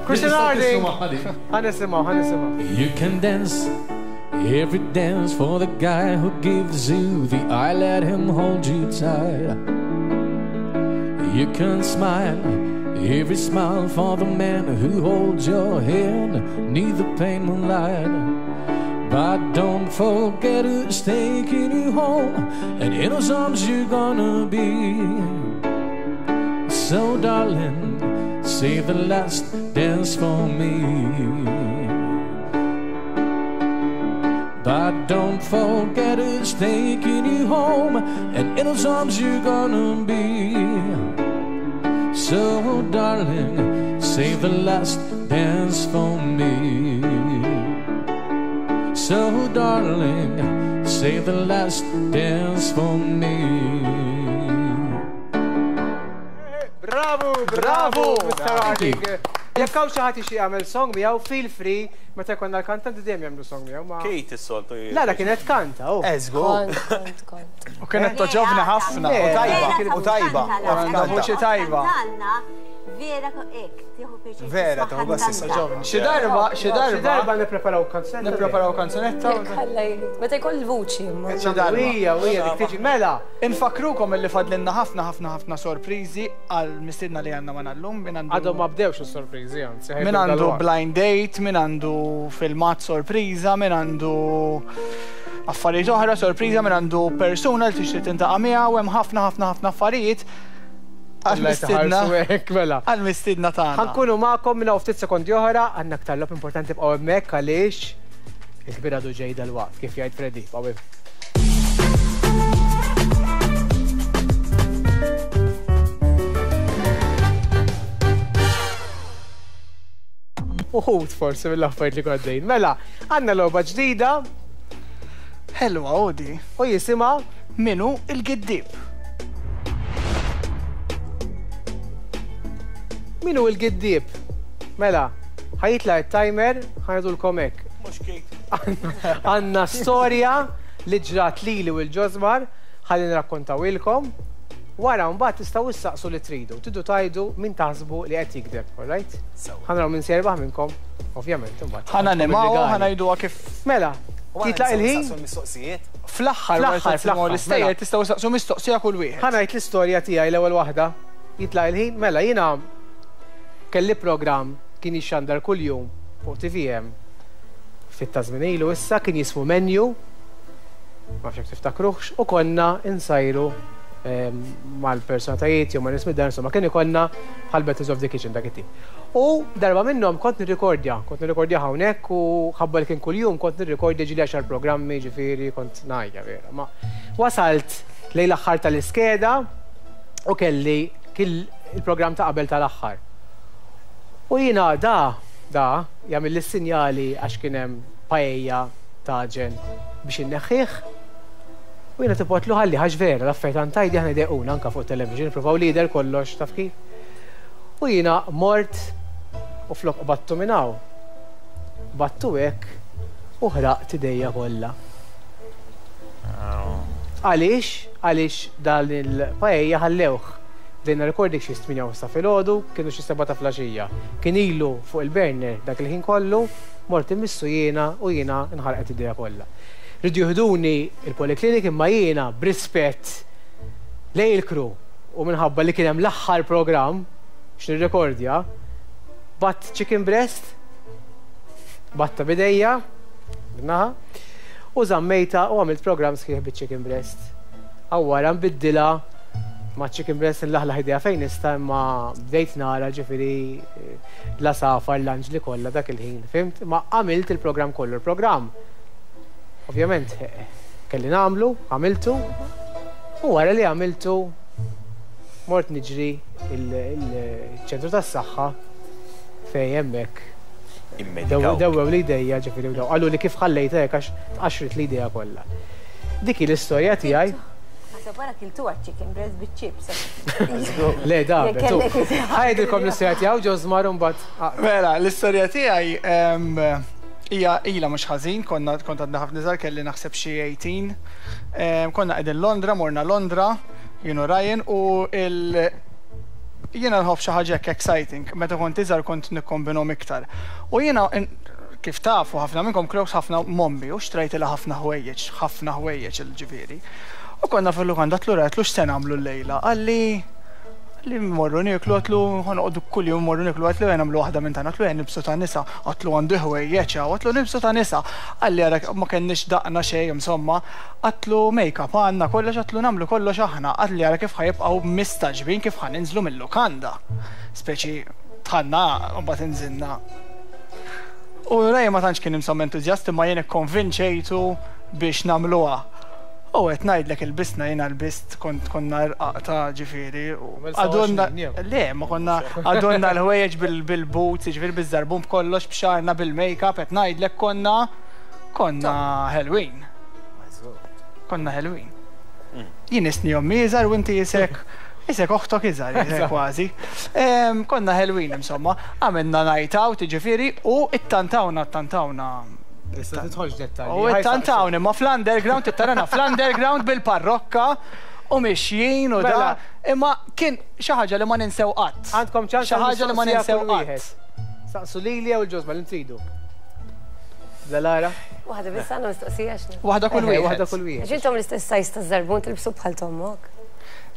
Christian Harding. Ħa nisimgħu, ħa nisimgħu. You can dance every dance for the guy who gives you the eye, let him hold you tight. You can smile every smile for the man who holds your hand neath the pale moonlight. But don't forget who's taking you home, and in whose arms you're gonna be. So, darling, save the last dance for me. But don't forget who's taking you home, and in whose arms you're gonna be. So, darling, save the last dance for me. So, darling, save the last dance for me. Bravo, bravo, Mister Harding. you. Jekk hawn xi ħadd ixi jagħmel song miegħu, feel free, meta jkollna l-kantanti dejjem jagħmlu song miegħu. ma- Kate is-soltu. La, la kienet kanta, oh. Eżgu. Kont, kont, kont. U kienet toġobna ħafna. U tajba, u tajba. Għandha vuċi tajba. Kantanna, vera hekk, tieħu pjaċir. Vera, tisma' tieħu gost kantanta. tisma' Xi darba, xi Xi darba darba nippreparaw kanzunetta. nippreparaw kanzunetta. Jekk Alla jrid. Meta jkoll il-vuċi imma. Xi darba. Ija, ija, dik tiġi mela. Infakrukom illi fadlinna ħafna ħafna ħafna sorpriżi għal mistiedna li għandna ma llum min Għadhom għandu ma bdewx is-sorpriżi, anzi. min għandu blind date, min għandu filmat sorpriża, min għandu affarijiet oħra sorpriża, min għandu persuna li tixtieq tintaqa' miegħu hemm ħafna ħafna ħafna affarijiet għal mistiedna Mela. għal mistiedna tagħna. Ħankunu magħkom minn hawn ftit sekondi oħra, għandna aktar logħob importanti bqgħu hemmhekk għaliex il-kbir għadu ġej dal-waqt, kif jgħid Freddy. Bqgħu hemm. Uħud forsi mill-affarijiet li għaddejn. Mela, għandna logħba ġdida Ħelwa odi. u jisimha Minu il-giddib. Min hu il-giddieb. Mela, ħa jitla' il-timer, ħa ngħidulkom hekk. Mhux Kate. Għandna storja li ġrat lili u l-Ġosmar, ħalli nrakkontawilkom. Wara mbagħad tistgħu issaqsu li tridu. Tridu tgħidu min taħsbu li qed jikdeb, alright? Ħa naraw min se jerbaħ minnkom, ovvjament imbagħad. Ħa nanimaw, Bil-rigali. ħa ngħiduha kif Mela, jitlaq il-ħin, mistoqsijiet. fl-aħħar wara Fl-aħħar, tisimgħu fl-aħħar, l-istejjer mela. tistgħu saqsu mistoqsija kull wieħed. Ħa ngħid l-istorja tiegħi l-ewwel waħda. Jitlaq il-ħin, mela jiena kelli programm kien jixxandar kuljum fuq T V M. Ftit ta' żmien ilu issa kien jismu Menu. Ma nafx jekk tiftakruhx, u konna insajru ehm, mal-personatajiet jew ma' nies mid-dar, insomma kien ikollna bħal Battles of the Kitchen dak it-tip. U darba minnhom kont nirrikordja, kont nirrikordja hawnhekk u ħabba li kien kuljum kont nirrikordja ġieli għaxar programmi, ġifieri kont ngħajja vera. Ma wasalt lejn l-aħħar tal-iskeda u kelli kill il-programm ta' qabel tal-aħħar. U jiena da, da, jagħmel l-sinjali għax kien hemm paella taġen biex inneħħih. U jiena tipotlu ħalli ħax vera, l-affarijiet għantajdi aħna jdejquna anka fuq television, provaw lider kollox taf kif. U jiena mort u flok battu minn hawn. Battu hekk u ħraqt idejja kollha. Għaliex? Għaliex dan il-paella ħallewh. Bdejna recording xi tmienja u sa filgħodu, kienu xi seba' ta' filgħaxija. Kien ilu fuq il-burner dak il-ħin kollu, mort immissu jiena u jiena nħarqet idejja kollha. Rridu jieħduni il-poliklinik imma jiena b'rispett lejn il-crew u minħabba li kien hemm l-aħħar programm x'nirrekordja, bgħatt chicken breast, bgħattha b'idejja, b'naħa, u żammejtha u għamilt programm sħiħ biċ-chicken breast. Aw wara nbiddilha ma' chicken breast nlaħlaħ idejja fejn nista' imma bdejt nara ġifieri l-għasafar, l-anġli kollha dak il-ħin, fhimt? Ma għamilt il-programm kollu, il-programm. Ovvjament kelli nagħmlu, għamiltu, u wara li għamiltu mort niġri il-ċentru tas-saħħa fejn hemmhekk dewwew li idejja ġifieri u daw. Qalu li kif ħallejtha hekk għax tqaxxret li idejja kollha. Dik hi l-istorja tiegħi. Naħseb wara kiltu chicken breast biċ-chips. Le, da, ħa ngħidilkom l-istorja tiegħu Ġożmar u mbagħad. Mela, l-istorja tiegħi hija ilha mhux ħażin, konna kont għadna ħafna żgħar, kelli naħseb xi tmintax. Konna qegħdin Londra, morna Londra, jien u Ryan, u il jiena nħobb xi ħaġa hekk exciting, meta kont iżgħar kont nikkombinhom iktar. U jiena kif tafu ħafna minnkom close ħafna m'ommi u xtrajtilha ħafna ħwejjeġ, ħafna ħwejjeġ il-ġifieri. U konna fil-lukanda għedtlu għedtlu x'se nagħmlu llejla, qalli li mmorru nieklu, għedtlu ħa noqogħdu kuljum mmorru nieklu, għedtlu ejja nagħmlu waħda minn tagħna, għedtlu ejja nilbsu ta' nisa, għedtlu għandu ħwejjeġ hawn, għedtlu nilbsu ta' nisa. Qalli ara ma kenniex daqna xejn, insomma, għedtlu make-up għandna kollox, għedtlu nagħmlu kollox aħna, qalli ara kif ħa jibqgħu mistagħġbin kif ħa ninżlu mill-lukanda. Speċi dħalna u mbagħad inżilna. U Ryan ma tantx kien insomma entużjast imma jien ikkonvinċejtu biex nagħmluha. U qed ngħidlek ilbisna jiena lbist kont konna rqaq ta' ġifieri. Għadonna le, ma konna għadonna l-ħwejjeġ bil-boots, ġifieri biż-żarbun b'kollox, b'xarna bil-make-up, qed ngħidlek konna konna ħelwin. Konna ħelwin. Jien isni ommi iżgħar u inti isek isek oħtok iżgħar, isek kważi. Konna ħelwin insomma, għamilna night out, ġifieri, u ittantawna, ttantawna. Issa tidħolx dettalji. U ittantawni, ma fl-underground, ittarana fl-underground bil-parrokka u mixjin u da. Imma kien xi ħaġa li ma ninsew qatt. Għandkom ċans Xi ħaġa li ma ninsew qatt. Saqsu lili jew il-Ġożma li tridu. Lara? Waħda biss għandna mistoqsija x'ni. Waħda kull wieħed. Waħda kull wieħed. Għax intom l-istess size ta' żarbun tilbsu bħal t'ommok.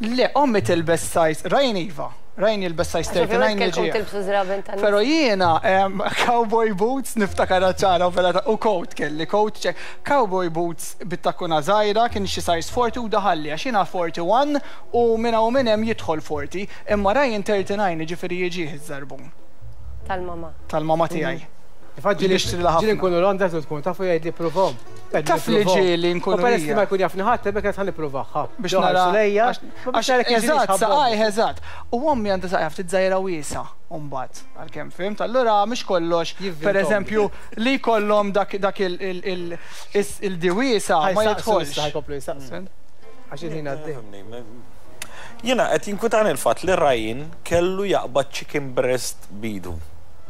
Le, ommi tilbes size, Ryan iva. Ryan jilbes size twenty-nine kelkom jiġi. tilbsu żraben ta' Pero jiena cowboy boots niftakar ċara u coat kelli, coat check. Cowboy boots bit-takkuna żgħira kien xi size forty u daħalli għax jiena forty-one u minn hawn minn hemm jidħol forty, imma Ryan thirty-nine jiġifieri jiġih iż-żarbun. Tal-mama. Tal-mama tiegħi. Ġieli Nixtri ħafna. Ġieli nkunu Londra tu tkun tafu jgħid li provhom. Taf li ġieli nkunu U peress li hija. ma jkun jafni ħadd, hemmhekk qed ħa nipprovaha. Biex nara. Lejja, Għax eżatt, saqaj, eżatt. U ommi għandha saqaj ftit żgħira wiesa' mbagħad, għalkemm fhimt. Allura mhux kollox, Jivvintom. per eżempju, li jkollhom dak dak il-diwiesa ma jidħolx. Ħa jkomplu jistaqsu. Għax il-ħin għaddej. Jiena qed jinkwitani l-fatt li Ryan kellu jaqbad chicken breast b'idu.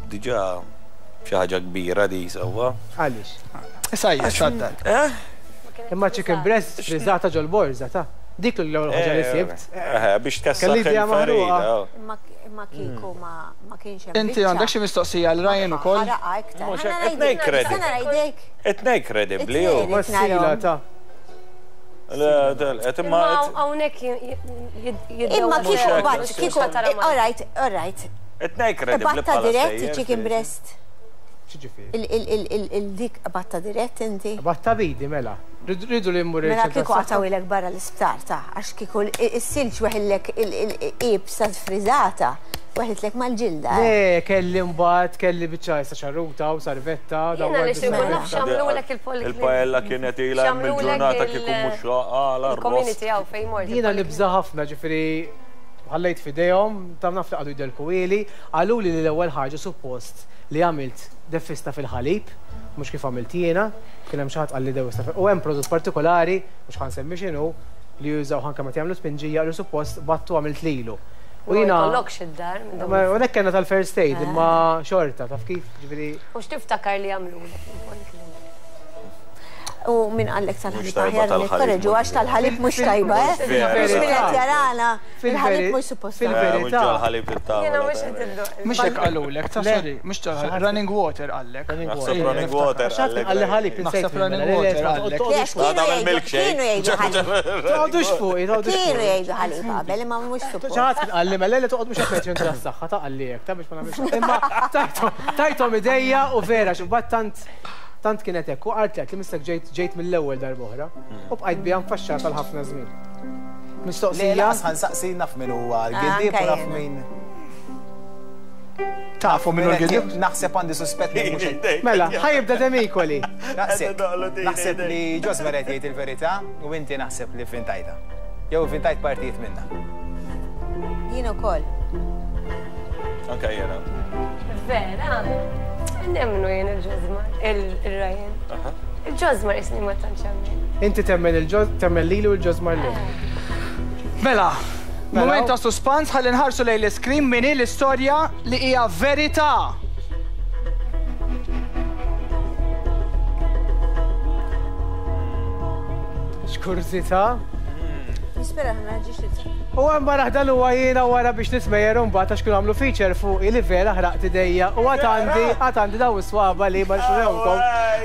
Diġà xi ħaġa kbira di sewwa. Għaliex? Issa hija xaddal. Eh? Imma chicken breast frizzata ġol-borża ta' dik l-ewwel ħaġa li sibt. Eh, biex tkessaħ Kelli idea maħruqa. il-farina. Imma kieku ma kienx hemm. Inti għandek xi mistoqsija għal Ryan ukoll? Ħaraqa iktar. Mhux Ħa hekk, nara qed ngħid jdejk, kredi. ħa nara jdejk. Qed ngħid kredibbli hu. Ma s-sila ta' Le, qed imma Imma hawnhekk jiddew. Imma kieku hekk, bat, mhux kieku, all right, all right. qed ngħid kredibbli Batta bħala dirett stejjer, chicken speċi. breast. X'ġifieri? Il-dik batta dirett inti. Batta b'idi mela. Ridu li mmur Mela il-ċentru kieku tas-saħħa. qatgħuhielek barra l-isptar ta' għax kieku is-silġ weħillek il-iebsa frizzata, weħlitlek mal-ġilda. eh. Le, kelli mbagħad kelli biċċa issa ċarruta u sarvetta. Jiena li xi nkun naf x'għamlulek il-poliklinika. Il-paella kienet ilha hemm X'għamlulek il-ġurnata il- kieku mhux għala Il-community hawn fejn mort. Jiena nibża ħafna ġifieri ħallejt f'idejhom, ta' naf li qagħdu jdelkuhieli, qaluli li l-ewwel ħaġa suppost li għamilt deffista fil-ħalib, mhux kif għamilt jiena, kien hemm xi ħadd qalli dewwista fil u hemm prodott partikolari, mhux ħa nsemmi x'inhu, li jużaw anke meta jagħmlu spinġija li suppost battu għamilt lilu. U jiena. Ma jkollokx id-dar. minn dawn Ma hekk kellna tal-first aid, imma xorta, taf kif, ġifieri. U x'tiftakar li għamlulek il-poliklinika? U min qallek tal-ħalib Mhux tajba aħjar tal-ħalib, nikkorreġu għax tal-ħalib mhux tajba, eh? Mhux min qed jarana, il-ħalib mhux suppost. Fil-verità. Ħalib it-tavola. Jiena mhux qed indoq. Mhux hekk qalulek, ta' Le. sorry, mhux tal running water qallek. Running Naħseb water. running water. Xatt qalli ħalib insejt. Naħseb running water qallek. Le, għax Ta' kienu tagħmel jgħidu- milkshake. kienu jgħidu ħalib. Toqgħodux fuqi, toqgħodux Kienu fuqi. jgħidu ħalib qabel, imma mhux suppost. Xi ħadd kien qalli mela li toqgħod mhux qed ngħid tas-saħħa ta' qalli hekk, ta' biex ma nagħmilx. Imma tajthom tajthom idejja u vera x'imbagħad tant tant kienet hekk u qalt li mistek ġejt ġejt mill-ewwel darba oħra u bqajt biha mfaxxata għal ħafna żmien. Le, Mistoqsija laqas ħansaqsi naf min huwa l-giddieb Anke u naf jiena. min. Tafu minnu l-giddieb? Naħseb għandi suspett li mhux qed- Mela, ħa jibda Demicoli. Naħseb naħseb li Josmer qed jgħid il-verità u inti naħseb li fintajta. Jew fintajt partijiet minnha. Jien ukoll. Anka jiena. Vera, nemmnu jien il-Josmar, il-Ryan. Il-Josmar isni ma tantx hemmhekk. Inti temmen il-ġoz, temmen lili u l-Josmar lil. Mela, Mela. moment ta' suspans ħalli nħarsu lejn l-iskrin min hi l-istorja li hija verità. X'kurżità. Nispera ma ġiex li U hemm wara dan huwa jiena wara biex nismejjer mbagħad għax kienu għamlu feature fuq li vera ħraqt idejja u għad għandi għad għandi daw is-swaba li ma xrewkom.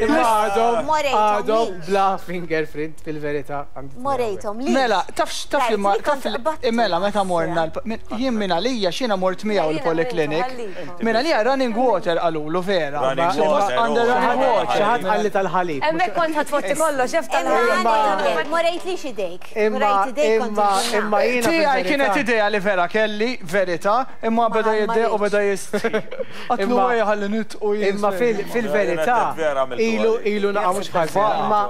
Imma għadhom Morejthom għadhom lix. bla fingerprint fil-verità. għandi Morejthom li. Mela, taf taf li ma Rajt li taf kont qbadt. mela meta morna l- min- jien minn għalija xina mort miegħu Jiena l-polyclinic. minn Minn għalija running water qalulu vera. Running Suppost water, Under oh. running water. Xi ħadd qalli tal-ħalib. Hemmhekk kont ħatfotti kollox, xef Imma tal-ħalib. morejt li xidejk. Imma Morejt idejk kont imma imma jiena Tiegħi fil-verità- kienet idea li vera kelli, verità, imma beda ma jidde u beda rridx. jistri. Għatlu Imma- għaj ħalli nitqu jien. Imma fil- fil-verità Vera għamiltu ilu għalik. ilu naqa' mhux ħażin. Imma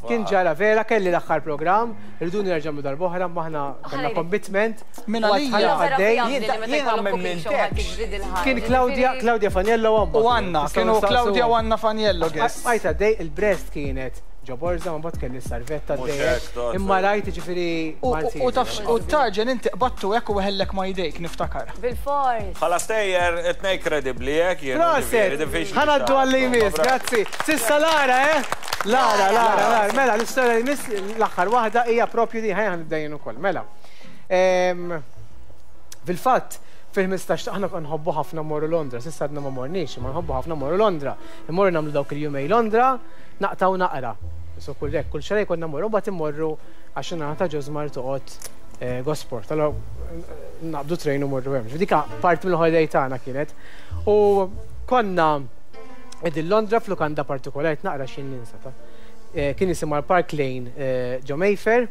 kien ġara vera kelli l-aħħar programm, rridu nerġgħu darba oħra ma aħna kellna commitment. Minn u għalija. għadħalla għaddej. Jiena minn Kien Claudia Claudia Faniello u U Anna, kienu Claudia u Anna Faniello guest. Għajta dej il-breast kienet ġo borza, ma mbagħad kelli s-sarvetta Mhux dej. hekk, tot. Imma rajt ġifieri U- Malti. U taf u tarġen inti qbattu hekk u weħellek ma jdejk niftakar. Bil-fors. Bħala stejjer, etnej kredibli jek, jien. Proset! Ħa ngħaddu għalli jmiss, grazzi. Sissa Lara, eh? Lara, Lara, Lara. Mela, l-istorja li jmiss l-aħħar waħda hija propju di ħajja nibda ukoll. Mela. Em, Fil-fatt, fil-ħmistax aħna nħobbu ħafna morru Londra, sissa għadna ma morniex, ma nħobbu ħafna morru Londra. Immorru nagħmlu dawk il-jumej Londra, naqtaw naqra. So kull hekk, kull xahar konna mmorru, mbagħad immorru għax in-naħa ta' Josmar toqgħod eh, Gosport. Allora naqbdu train u morru hemm. Dika parti mill-holiday tagħna kienet. U konna qegħdin Londra f'lukanda partikolari naqra x'in ninsa ta' Eh, Kien jisimha l-Park Lane eh, ġo Mayfair.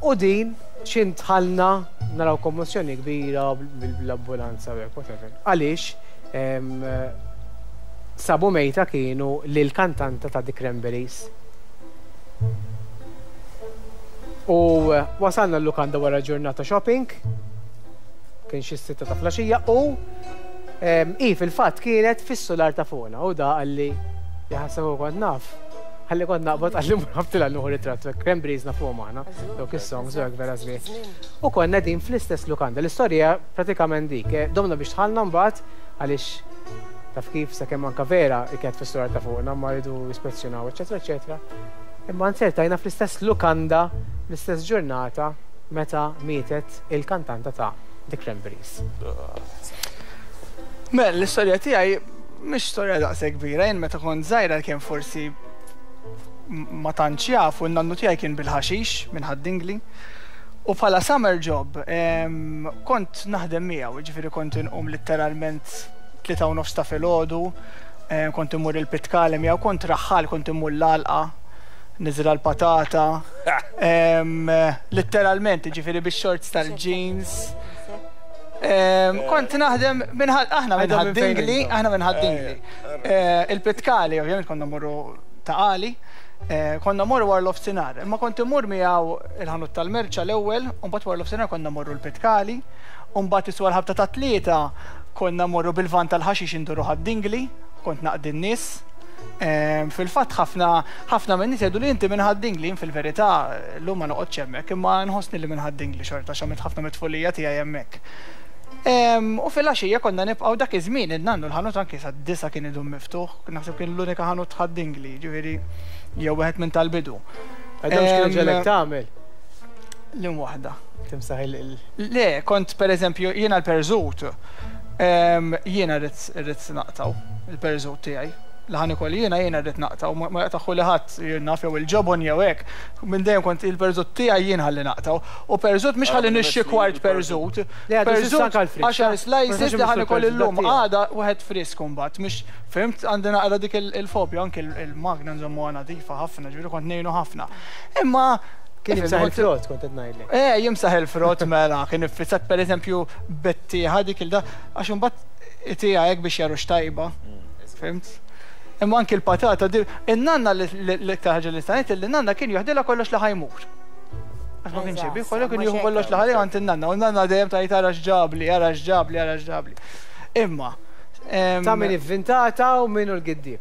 U din xin tħallna naraw kommozzjoni kbira bl-ambulanza u hekk, whatever. Għaliex em, sabu mejta kienu lil kantanta ta' The Cranberries. U eh, wasalna l-lukanda wara ġurnata shopping, kien xi sitta ta' filgħaxija u em, i fil-fatt kienet fis-solar ta' fuqna u da qalli jaħseb u kont naf. Ħalli kont naqbad qalli mur ħabtilha nieħu ritratt, Cranberries nafuhom aħna, dawk is-songs u hekk vera sbieħ. U konna din fl-istess lukanda. L-istorja pratikament dik, eh, domna biex tħallna mbagħad għaliex taf kif sakemm anka vera kienet fis-solar ta' fuqna ma rridu jispezzjonaw, eċetera, eċetera. Imma nsertajna fl-istess lukanda, fl-istess ġurnata meta mietet il-kantanta ta' The Cranberries. Mela, l-istorja tiegħi mhix storja daqshekk kbira, jien meta kont żgħira kien forsi m- ma tantx jafu, n-nannu tiegħi kien bil-ħaxix minn Ħad-Dingli. U bħala summer job em, kont naħdem miegħu, jiġifieri kont inqum letteralment tlieta u nofs ta' filgħodu, em, kont immur il-pitkale miegħu, kont raħħal, kont immur l-għalqa, niżra l-patata. Em, Letteralment, jiġifieri bix-shorts tal-jeans. Em, Kont naħdem minn ħad- aħna minn Għadhom minn fejn Ħad-Dingli, intom? aħna minn Ħad-Dingli. Eh, Il-pitkali, ovvjament konna morru Ta' Qali, eh, konna morru wara l-offsinar. Imma kont immur miegħu il-ħanut tal-merċa l-ewwel, u mbagħad wara l-offsinar konna morru l-pitkali, u mbagħad iswa l-ħabta ta' tlieta konna morru bil-van tal-ħaxix induru Ħad-Dingli, kont naqdi n-nies. Em, Fil-fatt ħafna ħafna minn nies jgħidu li inti minn Ħad-Dingli, jien fil-verità llum ma noqgħodx hemmhekk, imma nħossni li minn Ħad-Dingli xorta għax għamilt ħafna mit-tfulija tiegħi hemmhekk. Em, U fil-għaxija konna nibqgħu dak iż-żmien in-nannu l-ħanut anke sa disa kien idum miftuħ, naħseb kien l-unika ħanut Ħad-Dingli, ġifieri Jew wieħed minn tal-bidu. Għadhom x'kien ġelek tagħmel? Lim waħda. Timsaħ il- Le, kont per eżempju, jiena l-perżut, jiena rrid naqtaw il-perżut tiegħi. Li ħa nikol jiena jiena rrid naqtaw, ma jaqtaħu li ħadd jien naf jew il-ġobon jew hekk. Minn dejjem kont il-perżut tiegħi jien ħalli naqtaw. U perżut mhux ħalli nixxi kwart perżut. Perżut għaxar slices li ħa nikol illum għada wieħed frisk imbagħad. Mhux fimt għandi naqra dik il-fobja anke il-magna nżommuha nadifa ħafna, ġifieri kont ngħinu ħafna. Imma Kien jimsaħ il-frott, kont qed ngħidlek. Eh, jimsaħ il-frott mela, kien iffissat pereżempju bettieħa dik il-da, għax imbagħad itija hekk biex jarux tajba. Fimt? Imma anki l-patata, in-nanna l-iktar ħaġa li stanejt, li nanna kien joħdilha kollox li ħajmur. Għax ma kienx jibih, kollu kien jieħu kollox li ħalli għand in-nanna, u n-nanna dejjem tgħid ara x'ġabli, ara x'ġabli, ara x'ġabli. Imma. Ta' min ivvintata u min hu l-giddieb.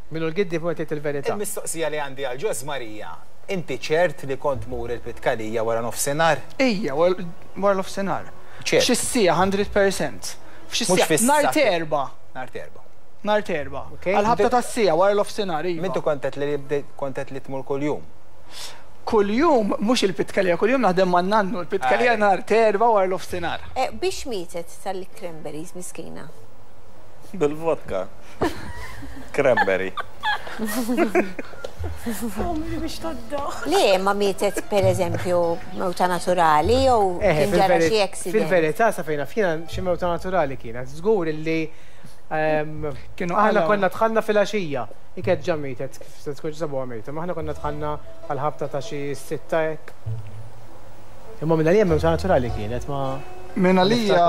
Min hu l-giddieb u qed il-verità. Il-mistoqsija li għandi għal Ġoż Marija, inti ċert li kont mur il-Pitkalija wara nofsinhar? Ejja, wara nofsinhar. Xi siegħa hundred percent. F'xi siegħa. Nhar t'Erbgħa. Nhar t'Erbgħa. Nhar t'Erbgħa. Għal-ħabta tas-siegħa wara l-ofsinhar. Mintu kontet li kontet li tmur kuljum? Kuljum mhux il-Pitkalija, kuljum naħdem man-nannu, il-Pitkalija nhar t'Erbgħa wara l-ofsinhar. Biex mietet tal-cranberries miskina? Bil-vodka. Cranberry. Biex toddoħ. Le, ma mietet per eżempju mewta naturali jew kien ġara xi accident. Fil-verità sa fejna fina xi mewta naturali kienet. Żgur illi aħna konna dħalna fil-għaxija. Iket ġa mietet, kif se tkun sabuha mejta, ma aħna konna dħalna għal-ħabta ta' xi sitta hekk. Imma minn għalija mewta naturali kienet ma. Minn għalija.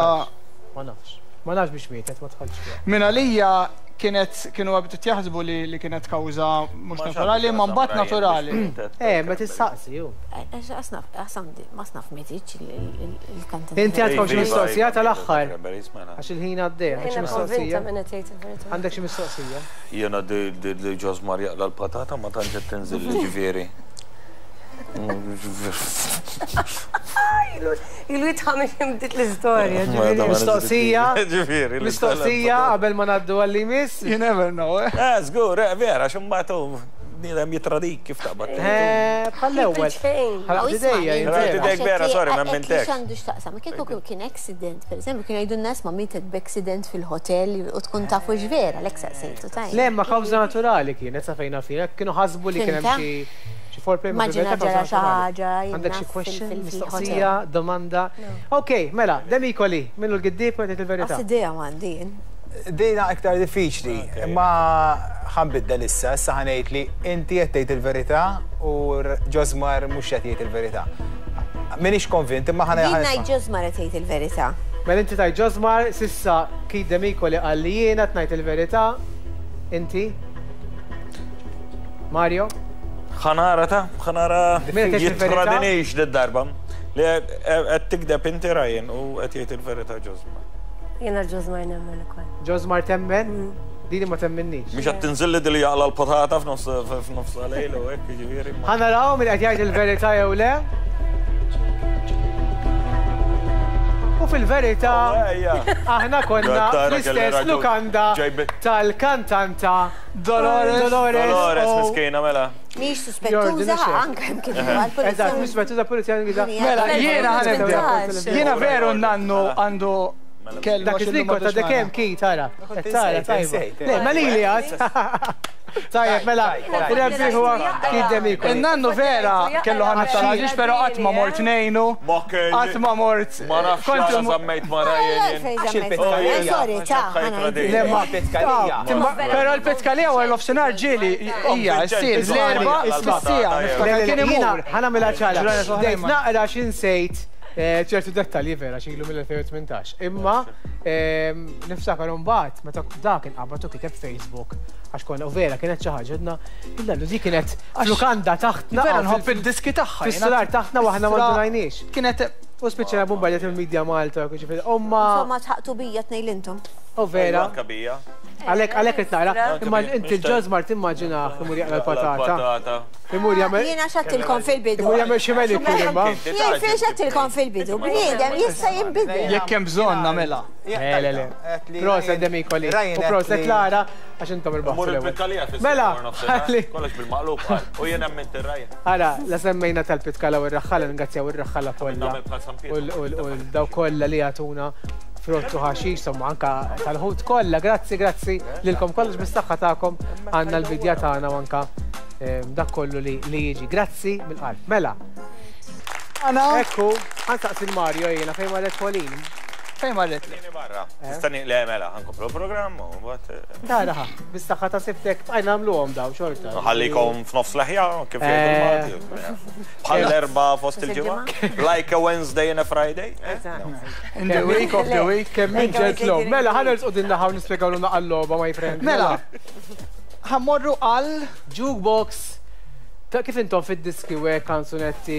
Ma nafx. Ma nafx biex mietet, ma tħallx fiha. Minn għalija kienet kienu għabdu jaħsbu li kienet kawża mhux naturali, ma mbagħad naturali. Eh, ma tistaqsi ju. Ma snaf mietitx il-kantant. Inti għandkom xi mistoqsija tal-aħħar. Għax il-ħin għaddej, għandek xi mistoqsija. Għandek xi mistoqsija? Jiena di Ġoż Marija l-patata ma tantx qed tinżil ġifieri. Ilu jitħamil bdiet l-istorja. Mistoqsija. Mistoqsija qabel ma ngħaddu għal miss. You never know. Eh, żgur, vera, x'imbagħad bniedem jitradik kif taqbad. Eh, bħall-ewwel. Ħalaqt idejja, idejk vera, sorry, ma mintek. X'għandu x'taqsam, kieku kien accident, pereżempju, kien jgħidu n-nies ma mietet b'accident fil-hotel u tkun tafu x'vera, lek saqsejtu tajjeb. Le, ma kawża naturali kienet sa fejna fina, kienu ħasbu li kien hemm xi xi foreplay ma Immaġina ġara xi ħaġa. Għandek xi question, mistoqsija, domanda. Ok, mela, Demicoli, minnu l-giddieb u qed il-verità. Għas idea m'għandi. Dejna iktar diffiċli, imma ħanbiddel issa, issa ħanejt li inti qed tgħid il-verità u Ġożmar mhux qed jgħid il-verità. Minix konvint, imma ħana. Jien ngħid Ġożmar qed jgħid il-verità. Mela inti tgħid Ġożmar, sissa Keith Demicoli qal li jiena qed ngħid il-verità. Inti? Mario? Ħanara ta' ħanara jitradinix d-darba. Li qed tikdeb inti Ryan u qed jgħid il-verità Ġożmar. Jiena Ġożmar nemmen ukoll. Ġożmar temmen? Dini ma temminniex. Mhux qed tinżilli dili jaqla l-patata f'nofs lejl u hekk jiġifieri. Ħa naraw min qed jgħid il-verità jew le. U fil-verità aħna konna fl-istess lukanda tal-kantanta Dolores. Dolores miskina mela. Mhix suspettuża anke hemm kien għall-pulizija. Eżatt, mhix suspettuża pulizija. Mela jiena ħanibda. Jiena veru n-nannu għandu Dak iż-żmien kont għadek hemm Keith tara. Tara tajba. Le, ma lili għad. Tajjeb, mela, ir-rebbieħ huwa Keith Demicoli. In-nannu vera kellu ħames tal-ħaġiġ, però qatt ma mort ngħinu. Qatt ma mort. Ma nafx għala żammejt ma Ryan. Għax il-Pitkalija. Le ma Pitkalija. Però l-Pitkalija wara l-ofsinhar ġieli hija ssir l-erba' is-siegħa. Niftakar kien imur. Ħa nagħmilha ċara. Bdejt naqra x'insejt ċertu dettalji vera xilu mill-elfejn u tmintax. Imma niftakar imbagħad meta dak inqabad u kiteb Facebook għax konna u vera kienet xi ħaġa għedna illallu di kienet lukanda taħtna. Vera nħobb id-diski tagħha. Fis-sular taħtna u aħna ma ndunajniex. Kienet u spiċċajna bombardjat il-media Malta, ġifieri omma. Insomma tħaqtu bija tnejn intom. U vera. Anka bija. Għalek, għalek qed naqra, imma inti l-ġożmar timmaġinah imur jaqla l-patata. Imur jagħmel. Jiena x'għedtilkom fil-bidu. Imur jagħmel xi manicure imma. Jien fejn x'għedtilkom fil-bidu, bniedem jista' jinbidel. Jekk hemm bżonn nagħmilha. Le, le, le. Proset Demicoli. U proset Lara għax intom irbaħtu. Mur il-Pitkalija fis Mela, ħalli. Kollox bil-maqlub qal. U jien emment ir-Ryan. Ara, la semmejna tal-Pitkala u r-raħħala, ningrazzjaw ir-raħħala kollha. Nagħmel bħal San Pietro. U daw kollha li jagħtuna frott u ħaxix, insomma anka tal-ħut kollha. Grazzi, grazzi lilkom kollox bis-saħħa tagħkom għandna l-bidja tagħna u anka dak kollu li jiġi. Grazzi mill-qalb. Mela. Ana. Ekku, ħansaqsi l-Mario jiena fejn marret Pauline. Fejn marret li? Barra. Tistani le mela, ħankomplu l-programm u mbagħad. Tara, bis-saħħa ta' sibtek bqajna nagħmluhom daw xorta. Ħallikom f'nofs leħja kif jgħidu l-Malti. Bħal l-erba' fost il-ġimgħa. Like a Wednesday and a Friday. In the week of the week. Kemm minn ġentlom. Mela, ħa nersqu din naħa u nispjegaw lilna għal-logħba, my friend. Mela, ħa mmorru għal jukebox. Ta' kif intom fid-diski u hekk kanzunetti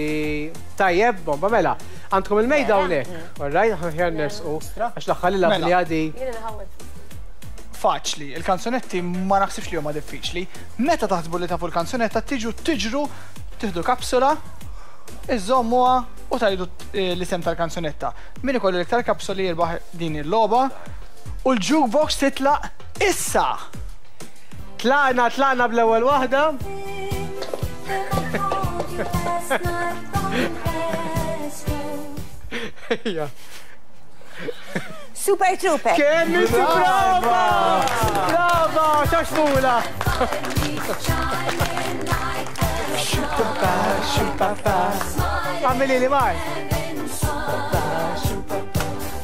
tajjeb, bomba, mela. Għandkom il-mejda hawnhekk. All right, ħan nersqu għax l-aħħar li Mela. li għadi. Faċli, il-kanzunetti ma naħsibx li huma diffiċli. Meta taħsbu li tafu l-kanzunetta tiġu tiġru, tieħdu kapsula, iżommuha u tajdu l-isem tal-kanzunetta. Min ikollu l-iktar kapsuli jirbaħ din il-logħba u l-jukebox titlaq issa. Tlaqna, tlaqna bl-ewwel waħda. Ejja. Super Trooper. Kemm inti brava! Brava, xaxmula! Għamili li maj.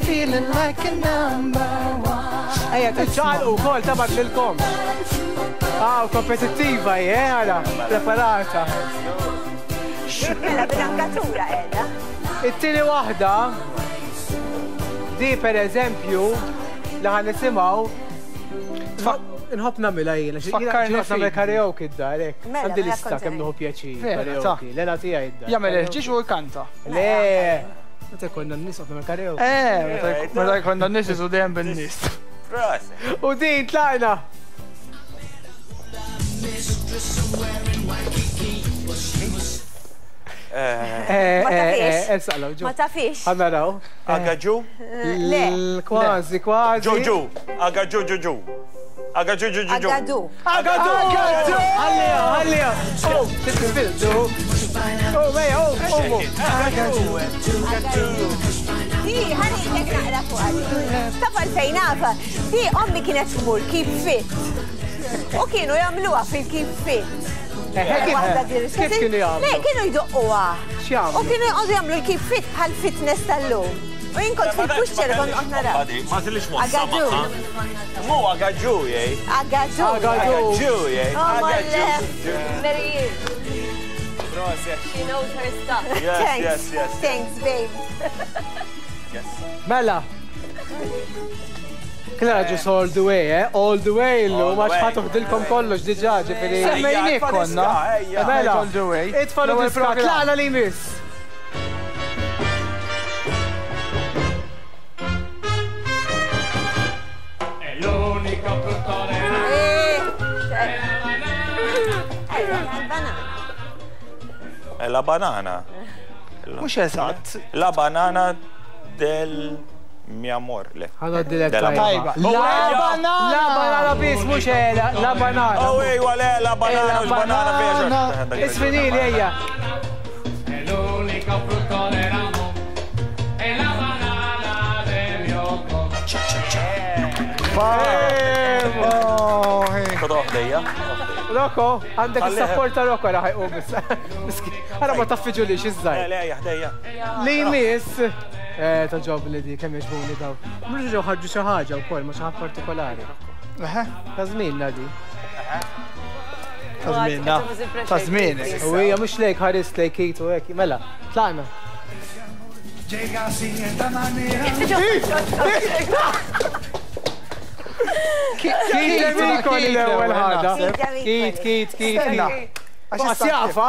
Feeling like a number one. Ejja, tiċċaqalqu wkoll tabak lilkom. Ah, kompetittiva, eh, għala, preparata. Mela bil-angatura qiegħda. It-tieni waħda, di per eżempju, li ħan nisimgħu, nħobb nagħmilha jiena, xi Fakkarni jiena nagħmel fik. karaoke id-dar, hekk. Mela, Għandi mela lista kont kemm nieħu pjaċir Vera, ta. karaoke. L-ela tiegħi id-dar. Jagħmel il-ħġieġ u jkanta. Le, meta konna n-nies qed nagħmel karaoke. Eh, meta jkollna n-nies isu dejjem bin-nies. Proset. U din tlaqna. Eh, Ma eh, tafix. eh, saqlaw, ġu. Ma tafix. Ħa naraw. Agaġu? Le. Kważi, kważi. Ġuġu. Agaġu ġuġu. Agaġu ġuġu. Agadu. Agadu! Agadu! Ħallija, ħallija. Oh, titbildu. Oh, mejja, oh, oh. Di, ħani jek naqra fuq għadi. Taf għalfejn nafa. Di, ommi kienet tmur keep fit. U kienu jagħmluha fil-keep fit. Waħda di Kif kienu jagħmlu? Le, kienu jdoqquha. X'jagħmlu? U kienu jqogħdu jagħmlu l-keep fit bħal fitness tal-lum. U jien kont fil-puxċer kont qed naraw. Ma tilix mod Agadu. Mu agadu, jej. Agadu. Agadu. Agadu, jej. Oh, my Agadu. left. Mary, Proset. she knows her stuff. Yes, Thanks. yes, yes. Thanks, babe. Yes. Mela. Klara ġus all the way, eh? All the way illum, All the għax way. ħa tuħdilkom kollox diġà, ġifieri. Semmejniek konna. Ejja. Mela, All the way. itfalu L-ewwel diska, programm. tlaqna li jmiss. Eh, eh, banana. Eh, La banana. Mhux eżatt. La banana del mi amor. Le. Ħanoddilek Della tajba. Tajba. La La banana! La banana biss, mhux ela, la banana. Oh, ejwa, le, la banana, La mhux banana banana. biex. Isfinili, ejja. È l'unico frutto dell'amore, è la banana del mio cuore. Oh, hey. Kodo ħdejja. Rocco, għandek Għalli- il-support ta' Rocco raħ jqum issa. Miskin, Ara ma taffiġu li Le, xizzaj. le, ejja, ħdejja. Li jmiss. Eh, ta' ġob li di, kemm jogħġbuni daw. Mhux ġew ħarġu xi ħaġa wkoll, ma xi ħaġa partikolari. Eħe, Ta' żmienna di. Ta' żmienna. Ta' żmienek. U hija mhux lejk ħares lejk Kate u hekk, mela, tlaqna. Kate Demicoli l-ewwel ħaġa. Kate Kate, Kate, Kate. Stenna. Għax jafa.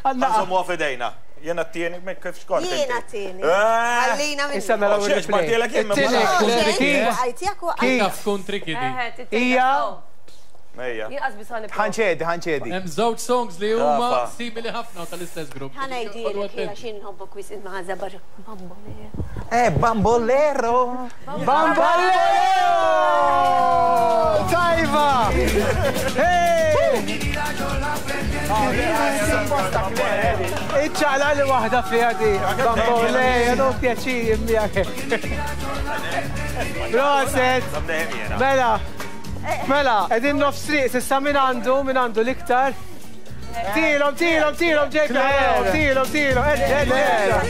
Għandna Għanżommu fidejna. Jena t-tieni, kif xkont? Jena t-tieni. Għallina minn. Issa naraw il-replay. It-tieni. Taf tkun tricky di. Ija. Ejja. Ħanċedi, ħanċedi. Hemm żewġ songs li huma simili ħafna tal-istess grupp. Ħanajdilek għax inħobbok wis imma żabar. Eh, Bambolero. Bambolero! Tajba! Hey! Iċċaqla li waħda fiha di. Bambolero, pjaċir miegħek. Proset! Mela! Mela, qegħdin nofs triq, s'issa min għandu, min għandu l-iktar. Tilhom, tilhom, tilhom, Ġejk, tilhom, tilhom, erġa', erġa'.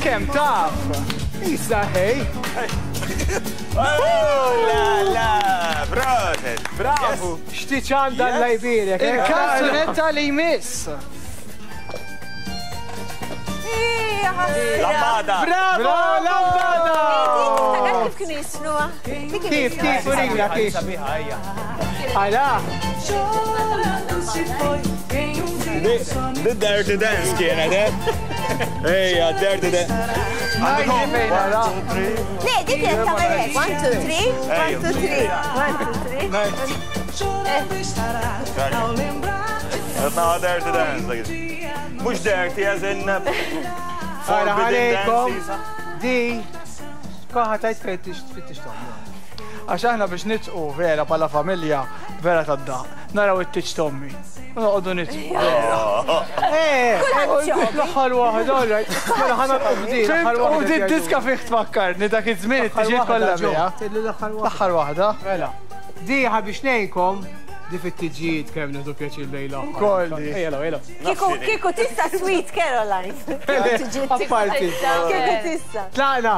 Kemm taf? Issa ħej. La, la, proset. Bravo. Xtiċ għandha l-lajbirek. Il-kanzunetta li jmiss. Lambada! Bravo, lambada! Kif kienu jisnuha? Kif, kif, urina, kif? Għala! The Dirty Dance kienet, eh? Ejja, Dirty Dance. Le, dik kienet tagħmel hekk. One, two, three, one, two, three, one, two, three. No, Dirty Dance. Mhux dirty as in Għara ħalejkom, di, koħa tajt fejn tfittix tommi. Għax aħna biex nitqu vera bħala familja, vera tad-daq. Naraw it-tiċ tommi. U noqogħdu nitqu. Eh, l-aħħar waħda, all right. Mela ħana bdi, l-aħħar waħda. U di diska fih tfakkarni dak iż-żmien it-tiġiet kollha biha. L-aħħar waħda. Mela, di ħabiex ngħidkom di fit-tiġijiet kemm nieħdu pjaċir lejla. Kolli. Ejja, ejja. Kieku kieku tista' Sweet Caroline. Apparti. Kieku tista'. Tlaqna.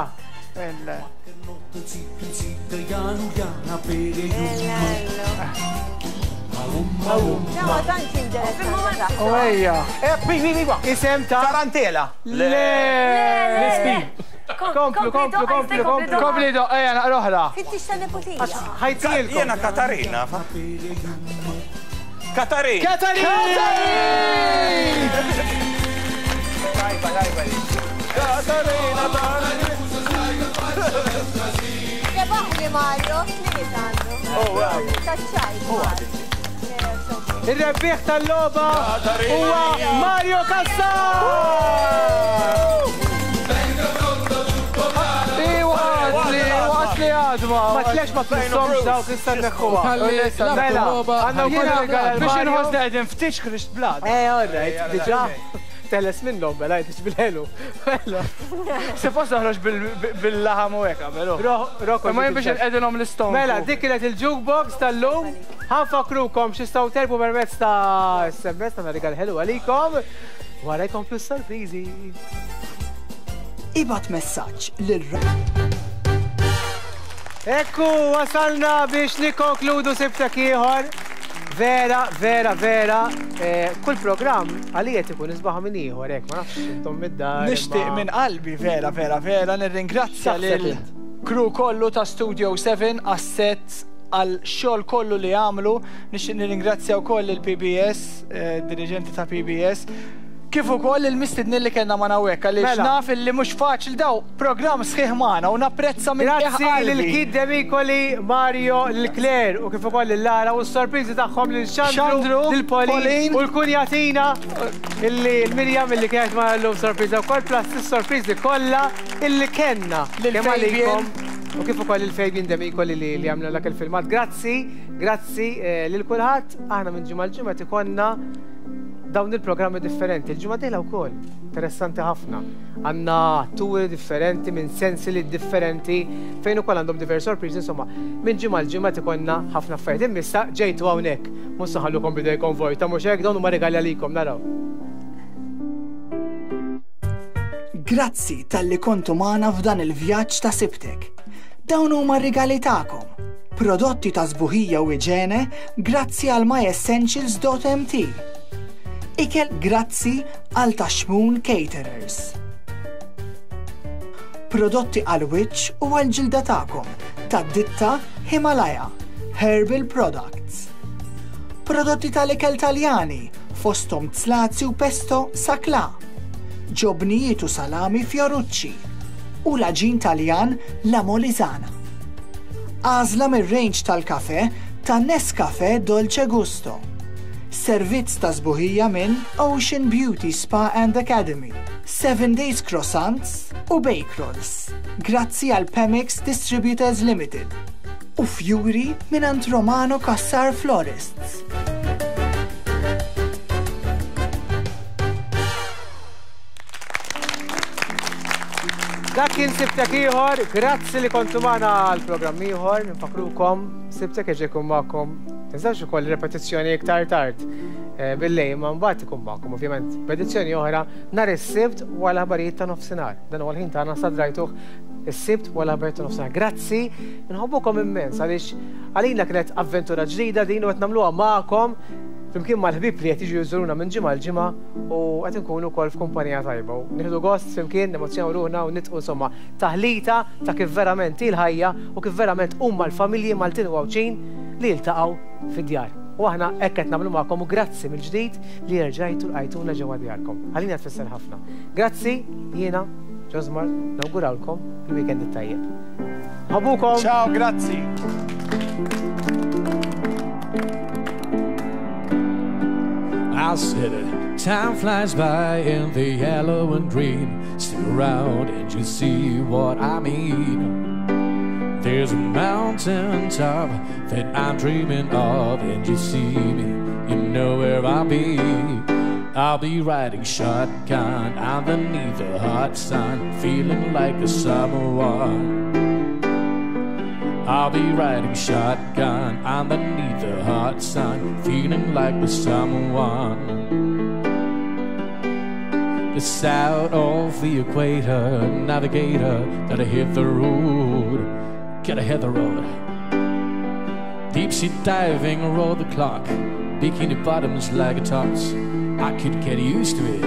Ma tantx interessanti. U ejja. Isem ta' Tarantela. Le. Komplu, komplu, komplu, komplu. Kompli do, ejja naqra oħra. Fittix ta' nepotija. Ħajtilkom. Jena Katarina. Katarina. Katarina! Tajba, tajba. Katarina, Katarina. Rebaħli Mario, tliet għandu. Taċċajt. Il-rebbieħ tal-logħba huwa Mario Cassar! Waqt li, waqt li għadma. Ma tlex ma tfissomx dawk issa nneħħuha. Mela, għandna wkoll rigal Biex Mario. inħossna qegħdin ftit ħriġt blad. Eh, all right, diġà. Teles minnhom bela, jtix bil-ħelu. Mela. Se post noħroġ bil-laħam u hekk qabel. Rocco. Ma jien biex inqegħdilhom l-istonku. Mela, dik kienet il-jukebox tal-lum. Ħanfakrukom x'istgħu terbu permezz ta' S M S ta' rigal ħelu għalikom. Wara jkomplu s-sorpriżi. Ibgħat messaġġ lil Ekku, wasalna biex nikkonkludu sibtek ieħor. Vera, vera, vera, kull programm għalija ikun isbaħ minn ieħor hekk, ma nafx intom mid-dar. Nixtieq minn qalbi vera, vera, vera nirringrazzja lil crew kollu ta' Studio seven għas-set għal xogħol kollu li għamlu. Nixtieq nirringrazzja wkoll il P B S, dirigenti ta' P B S. Kif ukoll il-mistednin li kellna ma' hawnhekk għaliex naf illi mhux faċli daw programm sħiħ magħna u napprezza minn Grazzi lil Kid Demicoli, Mario, lil Claire u kif ukoll lil Lara u s-sorpriżi tagħhom lil Xandru, lil Pauline u l-kunjatina illi l-Mirjam illi kienet magħna llum sorpriża wkoll plus is-sorpriżi kollha illi kellna lil għalikom u kif ukoll il Fabian Demicoli li għamlu dak il-filmat. Grazzi, grazzi lil kulħadd. Aħna minn ġimgħa l-ġimgħa tikonna dawn il-programmi differenti. Il-ġimgħa dieħla wkoll interessanti ħafna. Għandna atturi differenti minn sensili differenti fejn ukoll għandhom diversi sorpriżi, insomma, minn ġimgħa l-ġimgħa tikonna ħafna affarijiet. Imma issa ġejtu hawnhekk, mhux se ħallukom bidejkom vojta, mhux hekk dawn huma regali għalikom, naraw. Grazzi talli kontu magħna f'dan il-vjaġġ ta' sibtek. Dawn huma r-rigali tagħkom. Prodotti ta' sbuħija u iġene grazzi għal my essentials dot M T. Ikel grazzi għal Taxmun Caterers. Prodotti għal wiċċ u għal ġilda tagħkom Tad-ditta Himalaya Herbal Products. Prodotti tal-ikel Taljani fosthom zlazi u pesto Sakla, ġobnijiet u salami Fiorucci u l-aġin Taljan La Molisana. Għażla mir-range tal-kafe ta' Nescafe Dolce Gusto. Servizz ta' sbuħija minn Ocean Beauty Spa and Academy, Seven Days Croissants u Bake Rolls. Grazzi għal Pemex Distributors Limited. U fjuri mingħand Romano Cassar Florists. Dak kien Sibtek ieħor, grazzi li kontu magħna għal programm ieħor, nfakrukom Sibtek jerġa' jkun magħkom. Tinsewx ukoll repetizzjoni iktar tard bil-lejl, ma mbagħad ikun magħkom ovvjament b'edizzjoni oħra nhar is-Sibt wara l-aħbarijiet ta' nofsinhar. Dan huwa l-ħin tagħna sa drajtuh is-Sibt wara l-aħbarijiet ta' nofsinhar. Grazzi, nħobbukom immens għaliex għalina kienet avventura ġdida din u qed nagħmluha magħkom flimkien mal-ħbieb li qed jiġu jżuruna minn ġimgħa l ġimgħa u qed inkunu wkoll f'kumpanija tajba. U nieħdu gost flimkien, nemozzjonaw ruħna u nitqu insomma taħlita ta' kif verament hi l-ħajja u kif verament huma l-familji Maltin u Għawdxin li jiltaqgħu fid-djar. U aħna hekk qed nagħmlu magħkom u grazzi mill-ġdid li rġajtu lqajtuna ġewwa djarkom. Għalina tfisser ħafna. Grazzi, jiena Josmar, nawgurawlkom il-weekend it-tajjeb. Ħabukom! Ciao, grazzi! I said it, time flies by in the yellow and green. Stick around and you'll see what I mean. There's a mountain top that I'm dreaming of, and you see me, you know where I'll be. I'll be riding shotgun underneath the hot sun, feeling like a summer one. I'll be riding shotgun underneath the hot sun, feeling like the summer one. The south of the equator, navigator, gotta hit the road, gotta hit the road. Deep sea diving, roll the clock, bikini bottoms like a tots. I could get used to it.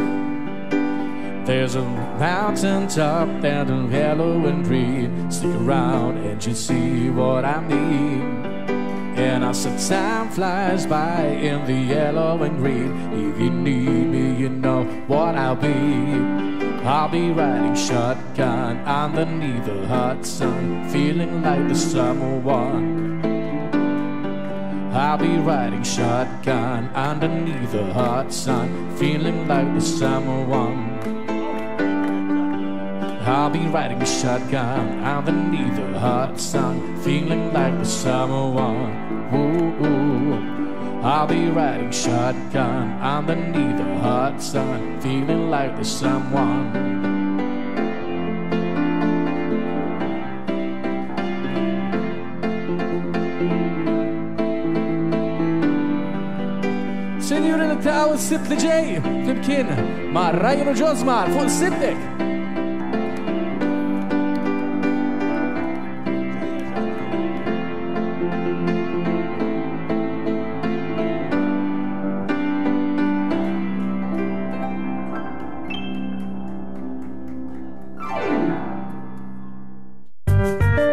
There's a mountain top and a yellow and green. Stick around and you'll see what I mean. And I said time flies by in the yellow and green. If you need me, you know what I'll be. I'll be riding shotgun underneath the hot sun, feeling like the summer one. I'll be riding shotgun underneath the hot sun, feeling like the summer one. I'll be riding shotgun underneath the hot sun, feeling like the summer one. Ooh, ooh. I'll be riding shotgun underneath the hot sun, feeling like the someone. Sinjuri li taw s-Sibt li ġej, flimkien ma' Ryan u Josmar fuq Sibtek.